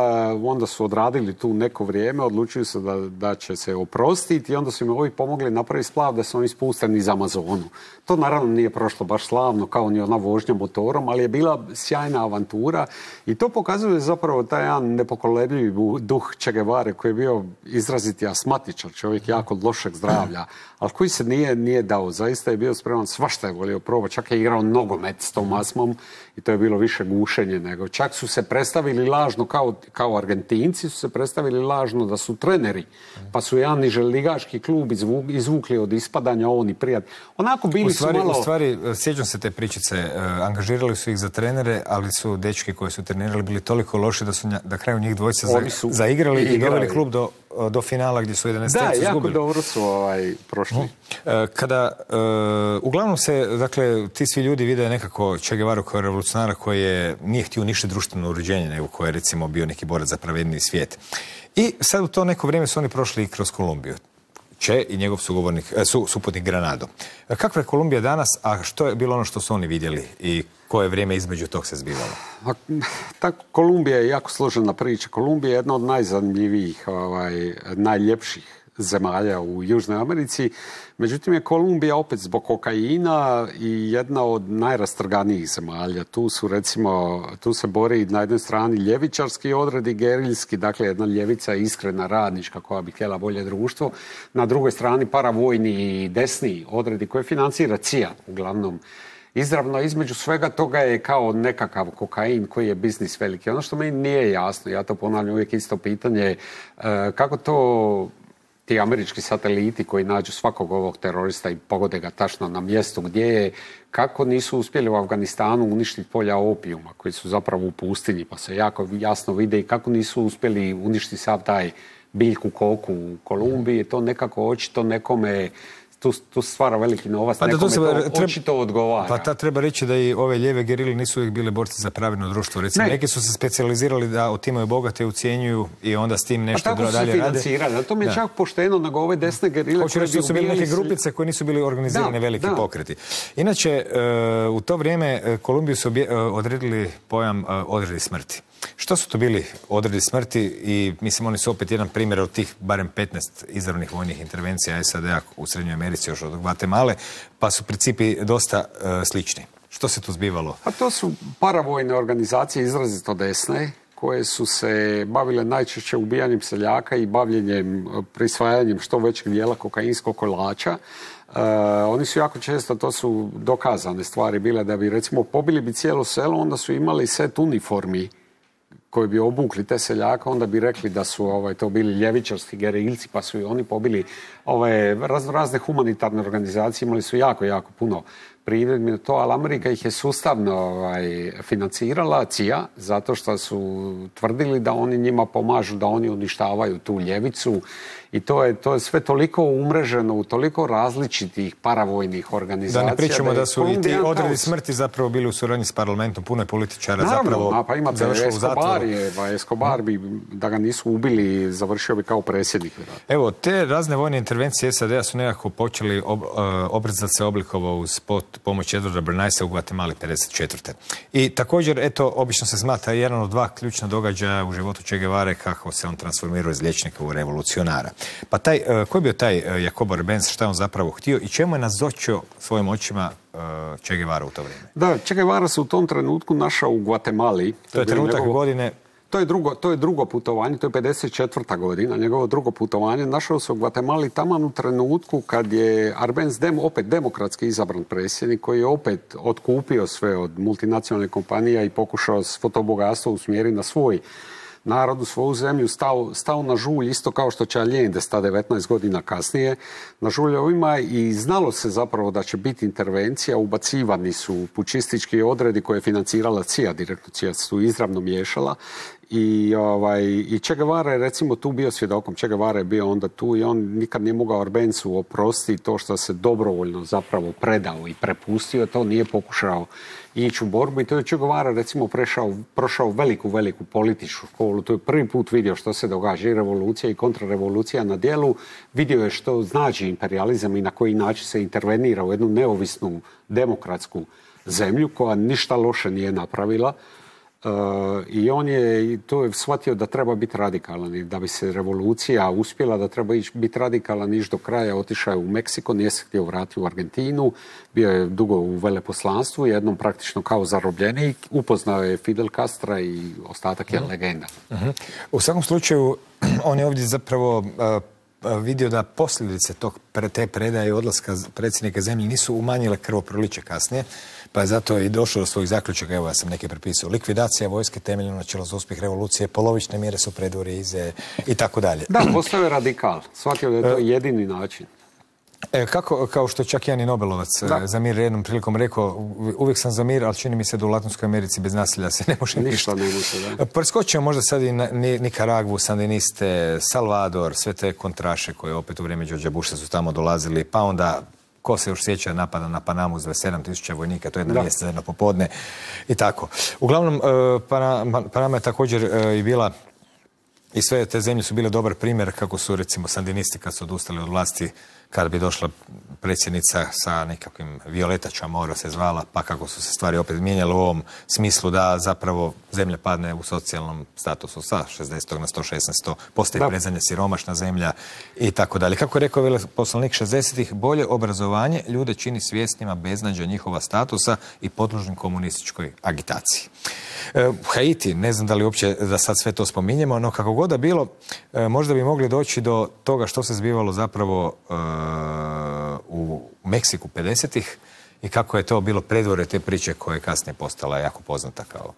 onda su odradili tu neko vrijeme, odlučili su da, da će se oprostiti i onda su im ovi pomogli napraviti splav da su oni spusteni iz Amazonu. To naravno nije prošlo baš slavno kao ni ona vožnja motorom, ali je bila sjajna avantura i to pokazuje zapravo taj jedan nepokolebljivi duh Che Guevare koji je bio izraziti asmatičar, čovjek jako lošeg zdravlja, ali koji se nije, nije dao. Zaista je bio spreman, svašta je volio probati, čak je igrao nogomet s tom asmom i to je bilo više gušenje nego. Čak su se predstavili lažno, kao, kao Argentinci su se predstavili lažno da su treneri, pa su jedan niželigaški klub izvuk, izvukli od ispadanja oni prijatelji. Onako bili u stvari, su malo... U stvari, sjećam se te pričice, uh, angažirali su ih za trenere, ali su dečki koji su trenirali bili toliko loši da su nja, na kraju njih dvojica za, zaigrali i doveli klub do, do finala gdje su jedanaest izgubili. Da, jako dobro su ovaj, prošli. Uh, kada, uh, uglavnom se, dakle, ti svi ljudi vide nekako Che Guevara kao revolucionara koji je, nije htio ništa društveno uređenje, nego koji je recimo bio neki borac za pravedniji svijet. I sad u to neko vrijeme su oni prošli i kroz Kolumbiju. Che i njegov sugovornik, su, suputnik Granado. Kakva je Kolumbija danas, a što je bilo ono što su oni vidjeli i koje vrijeme između tog se zbivalo? Ta Kolumbija je jako složena priča. Kolumbija je jedna od najzanimljivijih, ovaj, najljepših zemalja u Južnoj Americi. Međutim je Kolumbija opet zbog kokaina i jedna od najrastrganijih zemalja. Tu su recimo, tu se bori na jednoj strani ljevičarski odred i geriljski, dakle jedna ljevica iskrena, radnička koja bi htjela bolje društvo. Na drugoj strani paravojni i desni odredi koje financira C I A uglavnom. Izravno između svega toga je kao nekakav kokain koji je biznis veliki. Ono što meni nije jasno, ja to ponavljam uvijek isto pitanje, kako to ti američki sateliti koji nađu svakog ovog terorista i pogode ga tačno na mjestu gdje je, kako nisu uspjeli u Afganistanu uništiti polja opijuma koji su zapravo u pustinji, pa se jako jasno vide i kako nisu uspjeli uništiti sav taj biljku koku u Kolumbiji, to nekako očito nekome Tu, tu stvara veliki novac, pa nekome to, to treba, očito odgovara. Pa ta treba reći da i ove lijeve gerile nisu uvijek bile borci za pravedno društvo. Recimo, ne. Neki su se specijalizirali da otimaju bogate, ucijenjuju i onda s tim nešto dalje rade. Pa tako su financirali, to mi je da. čak pošteno nego ove desne gerile. Hoću reći da su bili neke grupice koje nisu bili organizirane da, veliki da. pokreti. Inače, uh, u to vrijeme uh, Kolumbiju su obje, uh, odredili pojam uh, odredi smrti. Što su to bili odredi smrti i mislim oni su opet jedan primjer od tih barem petnaest izravnih vojnih intervencija S A D-a u Srednjoj Americi još od Gvatemale, pa su principi dosta uh, slični. Što se tu zbivalo? A to su paravojne organizacije izrazito desne koje su se bavile najčešće ubijanjem seljaka i bavljenjem, prisvajanjem što većeg dijela kokainskog kolača. Uh, oni su jako često, to su dokazane stvari bile, da bi recimo pobili bi cijelo selo, onda su imali set uniformi koji bi obukli te seljaka, onda bi rekli da su ovaj, to bili ljevičarski gerilci, pa su i oni pobili ove raz, razne humanitarne organizacije, imali su jako, jako puno primjedbi na to, ali Amerika ih je sustavno ovaj, financirala, C I A, zato što su tvrdili da oni njima pomažu, da oni uništavaju tu ljevicu i to je, to je sve toliko umreženo u toliko različitih paravojnih organizacija. Da ne pričamo da, da su i ti odredi smrti zapravo bili u suradnji s parlamentom, puno je političara Naravno, zapravo a pa imate Escobar, je, pa Escobar bi, da ga nisu ubili, završio bi kao predsjednik. Evo, te razne vojne intervencije S A D-a su nekako počeli ob, uh, obraz da se oblikovao uz pot, pomoć Edwarda Bernaisa u Guatemali pedeset četvrte. I također, eto, obično se smatra jedan od dva ključna događaja u životu Che Guevare kako se on transformirao iz liječnika u revolucionara. Pa taj, ko je bio taj Jacobo Arbenz, šta je on zapravo htio i čemu je nazočio svojim očima Che Guevara u to vrijeme? Da, Che Guevara se u tom trenutku našao u Guatemali. To je trenutak njegov... godine... To je, drugo, to je drugo putovanje, to je pedeset četvrta godina, njegovo drugo putovanje. Našao se u Guatemali taman u trenutku kad je Arbenz dem, opet demokratski izabran predsjednik, koji je opet otkupio sve od multinacionalnih kompanija i pokušao svo to bogatstvo usmjeriti na svoj narod, u svoju zemlju, stao, stao na žulj, isto kao što će Allende sta devetnaest godina kasnije, na žulj ovima i znalo se zapravo da će biti intervencija, ubacivani su pučistički odredi koje je financirala C I A, direktno C I A su izravno miješala. I, ovaj, i Che Guevara je recimo tu bio svjedokom. Che Guevara je bio onda tu i on nikad nije mogao Arbenzu oprostiti to što se dobrovoljno zapravo predao i prepustio. To nije pokušao ići u borbu i to je Che Guevara recimo prešao, prošao veliku, veliku političku školu. To je prvi put vidio što se događa i revolucija i kontrarevolucija na dijelu. Vidio je što znači imperijalizam i na koji način se intervenira u jednu neovisnu demokratsku zemlju koja ništa loše nije napravila. Uh, I on je to je shvatio da treba biti radikalan i da bi se revolucija uspjela, da treba ići, biti radikalan, ići do kraja. Otišao je u Meksiko, nije se htio vratiti u Argentinu, bio je dugo u veleposlanstvu, jednom praktično kao zarobljenik, upoznao je Fidel Castra i ostatak je legenda. Uh-huh. U svakom slučaju, on je ovdje zapravo uh, vidio da posljedice tog, te predaje i odlaska predsjednika zemlje nisu umanjile krvoproliće kasnije, pa je zato i došlo do svojih zaključaka. Evo, ja sam neke prepisao. Likvidacija vojske, temeljno načelo za uspjeh revolucije, polovične mjere su predvorje ize i tako dalje. Da, postao je radikal. Shvatio da je to jedini način. E, kako, kao što čak Jani Nobelovac da. za mir jednom prilikom rekao, uvijek sam za mir, ali čini mi se da u Latinskoj Americi bez nasilja se ne može ništa. Ne može, da. Preskočimo možda sad i Nikaragvu, sandiniste, Salvador, sve te kontraše koje opet u vrijeme Georgea Busha su tamo dolazili, pa onda ko se još sjeća napada na Panamu za sedam tisuća vojnika, to je jedna mjesta za jedno popodne i tako. Uglavnom, Panama je također i bila, i sve te zemlje su bile dobar primjer kako su recimo sandinisti kad su odustali od vlasti, kada bi došla predsjednica sa nekakvim Violeta Chamorro se zvala, pa kako su se stvari opet mijenjale u ovom smislu da zapravo zemlja padne u socijalnom statusu sa šezdeset na sto šesnaest, postaje predzemlja siromašna zemlja i tako dalje. Kako je rekao veleposlanik šezdesetih, bolje obrazovanje ljude čini svjesnima beznađa njihova statusa i podložnim komunističkoj agitaciji. E, Haiti, ne znam da li uopće da sad sve to spominjemo, no kako god da bilo, e, možda bi mogli doći do toga što se zbivalo zapravo e, u Meksiku pedesetih i kako je to bilo predvorje te priče koja je kasnije postala jako poznata kao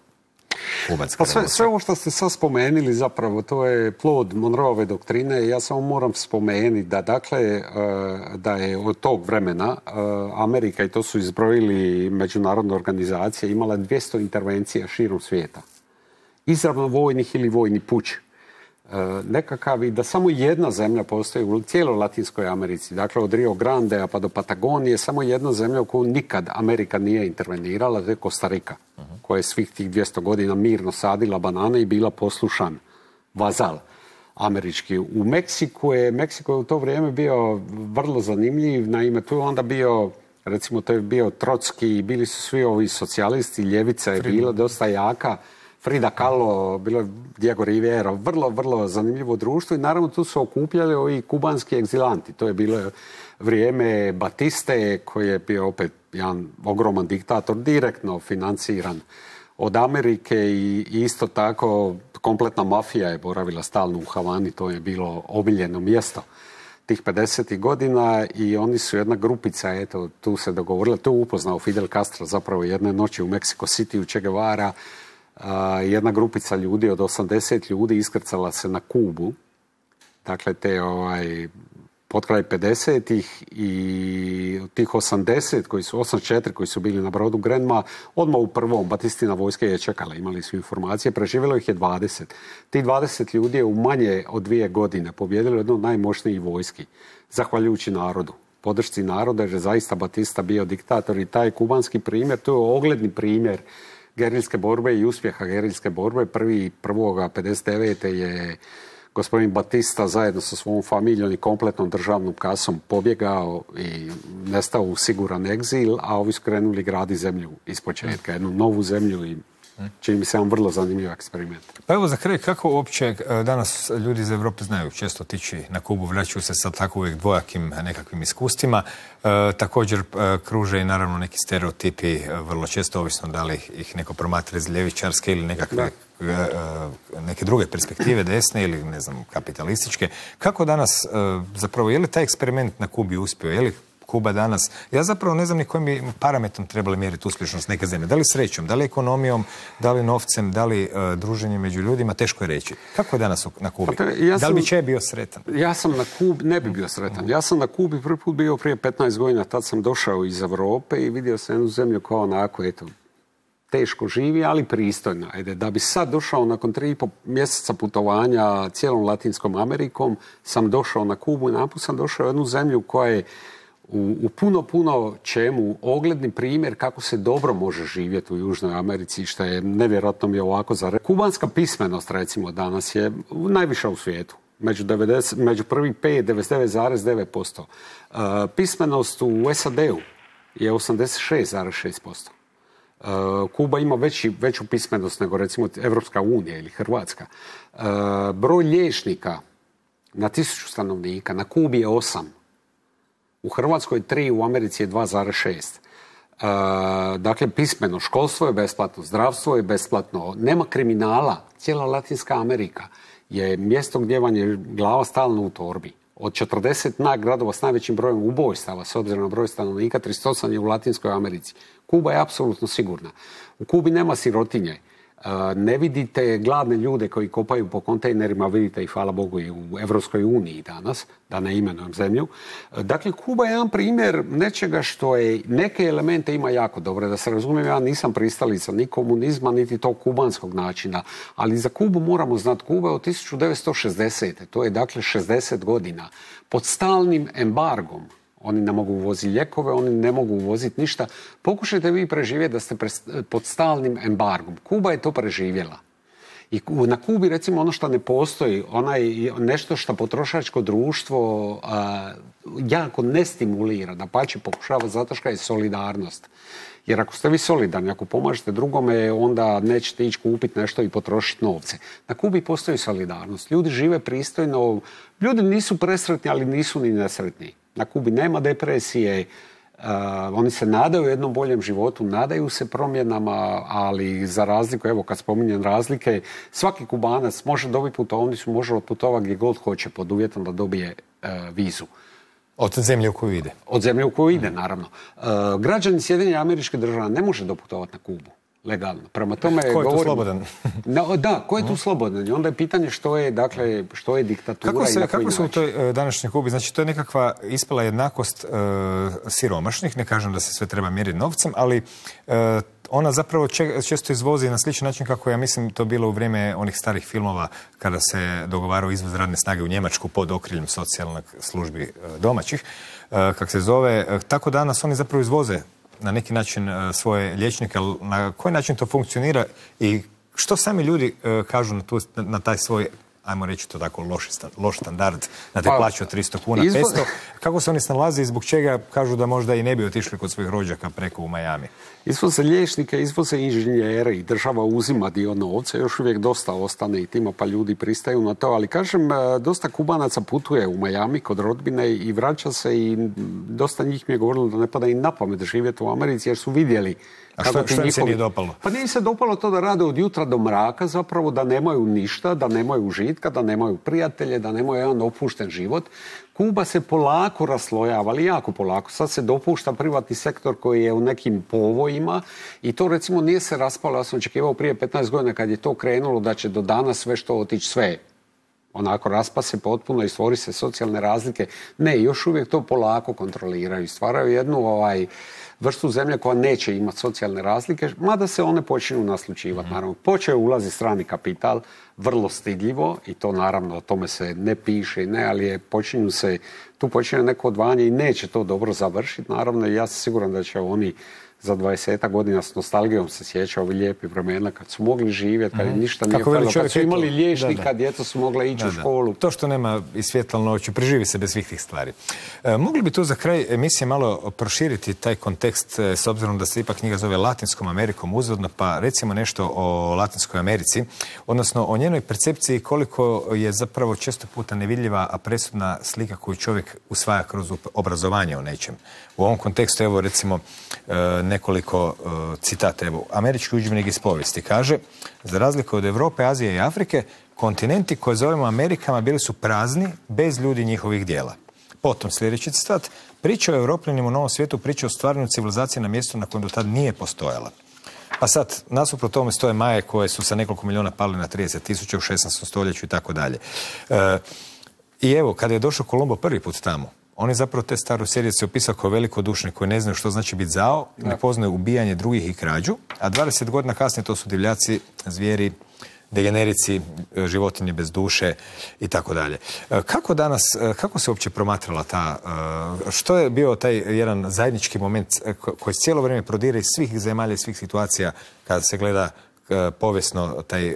kubanska pa sve, sve ovo što ste sad spomenuli zapravo to je plod Monroeove doktrine. Ja samo moram spomenuti da dakle da je od tog vremena Amerika, i to su izbrojili međunarodne organizacije, imala dvjesto intervencija širom svijeta. Izravno vojnih ili vojni puč. Nekakav i da samo jedna zemlja postoji u cijeloj Latinskoj Americi, dakle od Rio Grandea pa do Patagonije, samo jedna zemlja u koju nikad Amerika nije intervenirala, to je Kostarika, uh-huh. koja je svih tih dvjesto godina mirno sadila banane i bila poslušan vazal američki. U Meksiku je, Meksiko je u to vrijeme bio vrlo zanimljiv, naime tu je onda bio, recimo to je bio Trotski, bili su svi ovi socijalisti, ljevica je bila dosta jaka, Frida Kahlo, bilo je Diego Rivera, vrlo, vrlo zanimljivo društvo i naravno tu su okupljali ovi kubanski egzilanti. To je bilo vrijeme Batiste koji je bio opet jedan ogroman diktator, direktno financiran od Amerike i isto tako kompletna mafija je boravila stalno u Havani, to je bilo omiljeno mjesto tih pedesetih godina i oni su jedna grupica, eto, tu se dogovorila, tu upoznao Fidel Castro zapravo jedne noći u Mexico City u Che Guevara. Uh, jedna grupica ljudi od osamdeset ljudi iskrcala se na Kubu, dakle te ovaj, potkraj pedesetih i tih osamdeset, koji su, osamdeset četiri koji su bili na brodu Grenma, odmah u prvom Batistina vojska je čekala, imali su informacije, preživjelo ih je dvadeset. Ti dvadeset ljudi je u manje od dvije godine pobjedilo jednu od najmoćnijih vojski, zahvaljujući narodu, podršci naroda, jer je zaista Batista bio diktator i taj kubanski primjer, to je ogledni primjer gerilske borbe i uspjeha gerilske borbe. Prvi, prvoga pedeset devete je gospodin Batista zajedno sa svom familijom i kompletnom državnom kasom pobjegao i nestao u siguran egzil, a ovi su krenuli gradi zemlju ispočetka, jednu novu zemlju i čini mi se jedan vrlo zanimljiv eksperiment. Pa evo za kraj, kako uopće danas ljudi iz Europe znaju često otići na Kubu, vraćaju se sa tako uvijek dvojakim nekakvim iskustvima. E, također e, kruže i naravno neki stereotipi, e, vrlo često ovisno da li ih neko promatra iz ljevičarske ili nekakve e, e, neke druge perspektive, desne ili ne znam, kapitalističke. Kako danas, e, zapravo, je li taj eksperiment na Kubi uspio? Je li Kuba danas, ja zapravo ne znam ni kojim bi parametrom trebali mjeriti uspješnost neke zemlje. Da li srećom, da li ekonomijom, da li novcem, da li uh, druženjem među ljudima, teško je reći. Kako je danas na Kubi? Pa, ja sam, da li bi Che bio sretan? Ja sam na Kubi, ne bi bio sretan. Ja sam na Kubi prvi put bio prije petnaest godina, tad sam došao iz Europe i vidio sam jednu zemlju kao onako, eto, teško živi, ali pristojna. Ajde, da bi sad došao nakon tri i pol mjeseca putovanja cijelom Latinskom Amerikom, sam došao na Kubu i naput sam došao u jednu zemlju koja je U, u puno, puno čemu ogledni primjer kako se dobro može živjeti u Južnoj Americi, što je nevjerojatno mi je ovako za reći. Kubanska pismenost, recimo, danas je najviša u svijetu. Među, devedeset, među prvih pet, devedeset devet zarez devet posto. Uh, pismenost u S A D-u je osamdeset šest zarez šest posto. Uh, Kuba ima veći, veću pismenost nego, recimo, Evropska unija ili Hrvatska. Uh, broj liječnika na tisuću stanovnika na Kubi je osam. U Hrvatskoj je tri, u Americi je dva zarez šest. E, dakle, pismeno, školstvo je besplatno, zdravstvo je besplatno, nema kriminala. Cijela Latinska Amerika je mjesto gdje vam je glava stalno u torbi. Od četrdeset gradova s najvećim brojem ubojstava, s obzirom na broj stanovnika, trideset osam je u Latinskoj Americi. Kuba je apsolutno sigurna. U Kubi nema sirotinje. Ne vidite gladne ljude koji kopaju po kontejnerima, vidite ih, hvala Bogu, i u Evropskoj uniji danas, da ne imenujem zemlju. Dakle, Kuba je jedan primjer nečega što je, neke elemente ima jako dobre. Da se razumijem, ja nisam pristalica ni komunizma, niti tog kubanskog načina, ali za Kubu moramo znati, Kuba je od tisuću devetsto šezdesete. To je dakle šezdeset godina pod stalnim embargom. Oni ne mogu uvoziti lijekove, oni ne mogu uvoziti ništa. Pokušajte vi preživjeti da ste pod stalnim embargom. Kuba je to preživjela. I na Kubi, recimo, ono što ne postoji, onaj, nešto što potrošačko društvo a, jako ne stimulira, da pače pokušava zato što je solidarnost. Jer ako ste vi solidarni, ako pomažete drugome, onda nećete ići kupiti nešto i potrošiti novce. Na Kubi postoji solidarnost. Ljudi žive pristojno, ljudi nisu presretni, ali nisu ni nesretni. Na Kubi nema depresije, uh, oni se nadaju jednom boljem životu, nadaju se promjenama, ali za razliku, evo kad spominjem razlike, svaki Kubanac može dobiti putovnicu, može otputovati gdje god hoće pod uvjetom da dobije uh, vizu. Od zemlje u koju ide? Od zemlje u koju ide, naravno. Uh, građani Sjedinjenih Američkih Država ne može doputovati na Kubu. Legalno. Prema tome, ko je govorim, tu slobodan? No, da, ko je tu slobodan? I onda je pitanje što je, dakle, što je diktatura. Kako se, i na koji kako se u način. toj uh, današnjoj Kubi, znači to je nekakva ispala jednakost uh, siromašnih, ne kažem da se sve treba mjeriti novcem, ali uh, ona zapravo če, često izvozi na sličan način kako ja mislim to bilo u vrijeme onih starih filmova kada se dogovarao izvoz radne snage u Njemačku pod okriljem socijalnih službi uh, domaćih, uh, kak se zove. Uh, tako danas oni zapravo izvoze na neki način uh, svoje liječnike, ali na koji način to funkcionira i što sami ljudi uh, kažu na, tu, na, na taj svoj, ajmo reći to tako, loš, loš standard, na te pa, plaće od tristo kuna, izvo... petsto. Kako se oni snalaze i zbog čega kažu da možda i ne bi otišli kod svojih rođaka preko u Miami? Izvoze liječnike, izvoze inženjere i država uzima dio novca, još uvijek dosta ostane i tima, pa ljudi pristaju na to, ali kažem, dosta Kubanaca putuje u Miami kod rodbine i vraća se i dosta njih mi je govorilo da ne pada im na pamet živjeti u Americi jer su vidjeli. A što, što im njihovi... se nije dopalo? Pa nije se dopalo to da rade od jutra do mraka, zapravo da nemaju ništa, da nemaju užitka, da nemaju prijatelje, da nemaju jedan opušten život. Kuba se polako raslojava, ali jako polako. Sad se dopušta privatni sektor koji je u nekim povojima i to recimo nije se raspalo. Ja sam očekivao prije petnaest godina kad je to krenulo da će do danas sve što otići sve. Onako raspa se potpuno i stvori se socijalne razlike. Ne, još uvijek to polako kontroliraju. Stvaraju jednu ovaj, vrstu zemlje koja neće imati socijalne razlike, mada se one počinju naslučivati. Naravno, počeo ulazi strani kapital, vrlo stidljivo i to naravno o tome se ne piše, ne, ali je, počinju se, tu počinje neko odvajanje i neće to dobro završiti. Naravno, ja sam siguran da će oni za dvadesetak godina s nostalgijom se sjeća ovi lijepi vremena kad su mogli živjeti, kad mm-hmm. ništa nije falilo, kad su imali liječnika, da, da. djeca su mogla ići da, u školu. Da. To što nema i svjetla noću, preživi se bez svih tih stvari. E, mogli bi tu za kraj emisije malo proširiti taj kontekst, e, s obzirom da se ipak knjiga zove Latinskom Amerikom uzvodno, pa recimo nešto o Latinskoj Americi, odnosno o njenoj percepciji koliko je zapravo često puta nevidljiva, a presudna slika koju čovjek usvaja kroz obrazovanje o nečem. U ovom kontekstu, evo recimo e, nekoliko e, citata. Evo, američki udžbenik iz povijesti kaže: za razliku od Europe, Azije i Afrike, kontinenti koje zovemo Amerikama bili su prazni, bez ljudi njihovih dijela. Potom sljedeći citat: priča o Europljanima u Novom svijetu, priča o stvaranju civilizacije na mjestu na kojem do tad nije postojala. Pa sad, nasuprot tome stoje Maje koje su sa nekoliko milijuna pali na trideset tisuća u šesnaestom stoljeću i tako dalje. I evo, kada je došao Kolumbo prvi put tamo, on je zapravo te staru serije opisao kao velikodušne koji ne znaju što znači biti zao, ne poznaju ubijanje drugih i krađu, a dvadeset godina kasnije to su divljaci, zvijeri, degenerici, životinje bez duše i tako dalje. Kako danas, kako se uopće promatrala ta, što je bio taj jedan zajednički moment koji cijelo vrijeme prodire iz svih zemalja i svih situacija kada se gleda povijesno, taj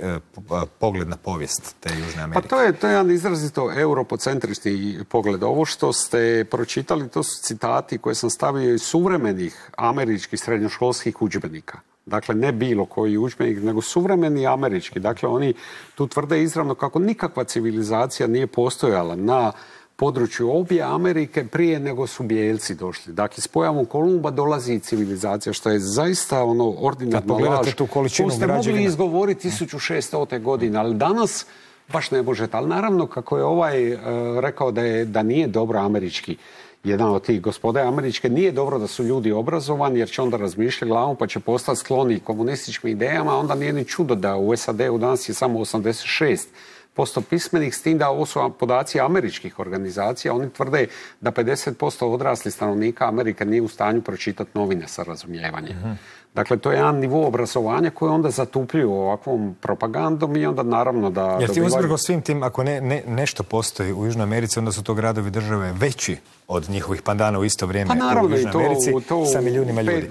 pogled na povijest te Južne Amerike? Pa to je, to je jedan izrazito europocentrični pogled. Ovo što ste pročitali, to su citati koje sam stavio iz suvremenih američkih srednjoškolskih udžbenika. Dakle, ne bilo koji udžbenik, nego suvremeni američki. Dakle, oni tu tvrde izravno kako nikakva civilizacija nije postojala na području obje Amerike prije nego su bijelci došli. Dakle, s pojavom Kolumba dolazi civilizacija, što je zaista ono ordinarna laž koju ste mogli izgovoriti tisuću šeststote godine, ali danas baš ne možete. Ali naravno, kako je ovaj uh, rekao da, je, da nije dobro američki, jedan od tih gospode američke, nije dobro da su ljudi obrazovani jer će onda razmišljati glavom pa će postati skloni komunističkim idejama, onda nije ni čudo da u S A D-u danas je samo osamdeset šest posto pismenih, s tim da ovo su podaci američkih organizacija. Oni tvrde da pedeset posto odraslih stanovnika Amerike nije u stanju pročitati novine sa razumijevanjem. Mm-hmm. Dakle, to je jedan nivo obrazovanja koji onda zatupljuju ovakvom propagandom i onda naravno da... Jer ti dobivaju... uzbrgo svim tim, ako ne, ne, nešto postoji u Južnoj Americi, onda su to gradovi države veći od njihovih pandana u isto vrijeme pa naravno, u Južnoj to, Americi to, sa milijunima pet, ljudi.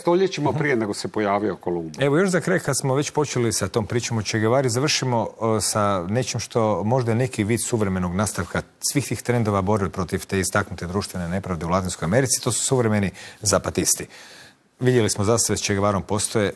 Stoljećima prije nego se pojavio Kolumbo. Evo još za kraj, kad smo već počeli sa tom pričom o Che Guevari, završimo uh, sa nečim što možda je neki vid suvremenog nastavka svih tih trendova borbe protiv te istaknute društvene nepravde u Latinskoj Americi. To su suvremeni zapatisti. Vidjeli smo zastave s Che Guevarom postoje. E,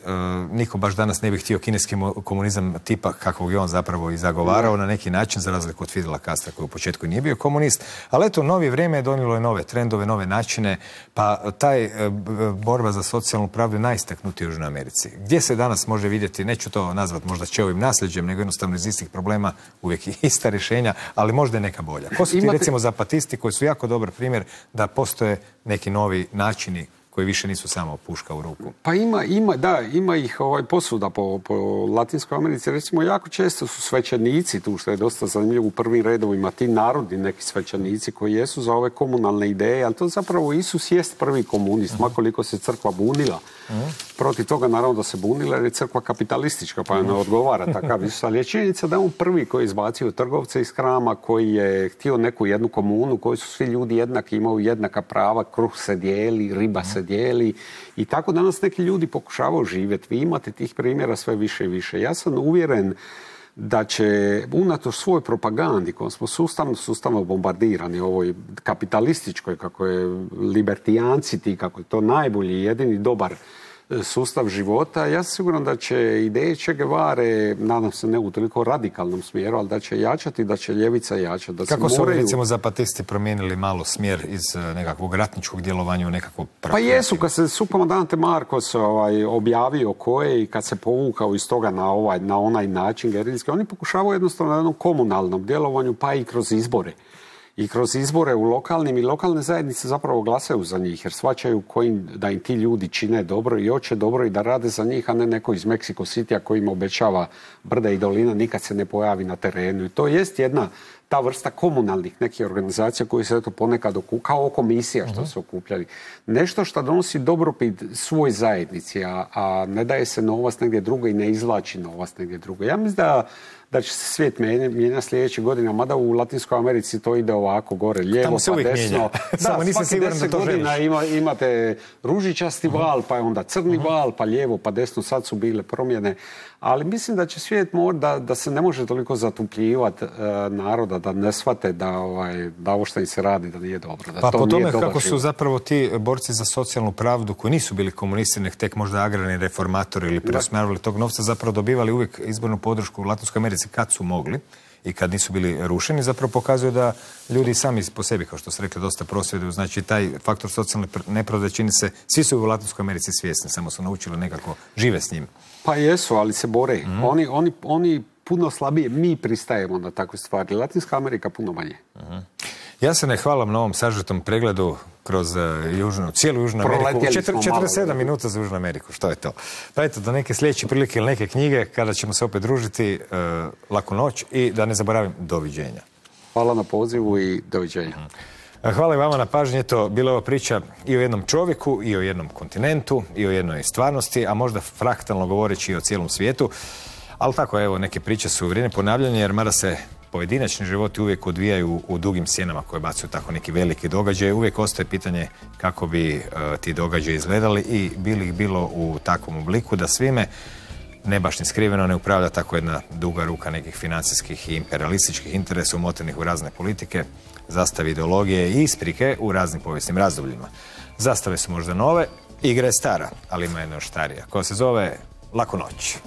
niko baš danas ne bi htio kineski komunizam tipa kakvog je on zapravo i zagovarao na neki način, za razliku od Fidela Castra koji u početku nije bio komunist. Ali eto, novi vrijeme je donijelo je nove trendove, nove načine, pa taj e, borba za socijalnu pravdu je najistaknutija u Južnoj Americi. Gdje se danas može vidjeti, neću to nazvati možda Čeovim nasljeđem, nego jednostavno iz istih problema uvijek ista rješenja, ali možda je neka bolja. Ko su ti Imate... recimo zapatisti koji su jako dobar primjer da postoje neki novi načini koji više nisu samo puška u ruku? Pa ima, ima, da, ima ih ovaj, posuda po, po Latinskoj Americi. Recimo, jako često su svećenici tu, što je dosta zanimljivo u prvim redovima, ti narodni neki svećenici koji jesu za ove komunalne ideje, ali to zapravo Isus jest prvi komunist, uh-huh. makoliko se crkva bunila. Uh-huh. Protiv toga naravno da se bunila jer je crkva kapitalistička, pa ne odgovara takav Isus. Ali je činjenica da on prvi koji je izbacio trgovce iz krama, koji je htio neku jednu komunu, koji su svi ljudi jednaki, imaju jednaka prava, kruh se dijeli, riba se dijeli i tako danas neki ljudi pokušavaju živjeti. Vi imate tih primjera sve više i više. Ja sam uvjeren da će unatoč svoj propagandi kojom smo sustavno, sustavno bombardirani ovoj kapitalističkoj, kako je libertijanci ti, kako je to najbolji, jedini dobar sustav života, ja sam siguran da će ideje Che Guevare, nadam se ne u toliko radikalnom smjeru, ali da će jačati, da će ljevica jačati. Da Kako su moraju... recimo zapatisti promijenili malo smjer iz nekakvog ratničkog djelovanja u nekakvo pravo? Pa jesu, kad se sukomandante Marcos ovaj, objavio koje i kad se povukao iz toga na, ovaj, na onaj način gerilski, oni pokušavaju jednostavno na jednom komunalnom djelovanju, pa i kroz izbore. I kroz izbore u lokalnim i lokalne zajednice zapravo glasaju za njih jer shvaćaju kojim, da im ti ljudi čine dobro i hoće dobro i da rade za njih, a ne neko iz Mexico Citya koji im obećava brda i dolina, nikad se ne pojavi na terenu. I to jest jedna ta vrsta komunalnih nekih organizacija koji se eto ponekad okup, kao komisija što uh-huh. se okupljali. Nešto što donosi dobrobit svoj zajednici, a, a ne daje se novac negdje drugo i ne izvlači novac negdje drugo. Ja mislim da da će se svijet mijenjati sljedeće godine, mada u Latinskoj Americi to ide ovako gore, lijevo pa desno. Da, Samo nisam siguran da to godina ima, imate ružičasti val, pa je onda crni uh-huh. val, pa lijevo, pa desno, sad su bile promjene. Ali mislim da će svijet mora, da, da se ne može toliko zatupljivati uh, naroda, da ne shvate da, ovaj, da ovo što im se radi da nije dobro. Da pa to po tome kako život. Su zapravo ti borci za socijalnu pravdu koji nisu bili komunisti, nek tek možda agrarni reformatori ili preusmjeravali tog novca, zapravo dobivali uvijek izbornu podršku u Latinskoj Americi kad su mogli i kad nisu bili rušeni, zapravo pokazuje da ljudi sami po sebi, kao što ste rekli, dosta prosvjeduju. Znači, taj faktor socijalne nepravde čini se, svi su u Latinskoj Americi svjesni, samo su naučili nekako žive s njim. Pa jesu, ali se bore. Mm. Oni, oni, oni puno slabije, mi pristajemo na takve stvari. Latinska Amerika puno manje. Mm. Ja se ne hvalam na ovom sažetom pregledu kroz uh, južnu, cijelu Južnu Ameriku. četrdeset sedam minuta za Južnu Ameriku, što je to? Pa eto, do neke sljedeće prilike ili neke knjige, kada ćemo se opet družiti, uh, laku noć i da ne zaboravim, doviđenja. Hvala na pozivu i doviđenja. Mm. Hvala i vama na pažnji. Eto, bila je ova priča i o jednom čovjeku, i o jednom kontinentu, i o jednoj stvarnosti, a možda fraktalno govoreći i o cijelom svijetu. Ali tako, evo, neke priče su vrijeme ponavljanja, jer mada se pojedinačni životi uvijek odvijaju u dugim sjenama koje bacaju tako neki veliki događaj. Uvijek ostaje pitanje kako bi uh, ti događaji izgledali i bili ih bilo u takvom obliku da svime ne baš ni skriveno ne upravlja tako jedna duga ruka nekih financijskih i imperialističkih interesa umotenih u razne politike, zastave ideologije i isprike u raznim povijesnim razdobljima. Zastave su možda nove, igra je stara, ali ima jedna još starija, koja se zove Laku noć.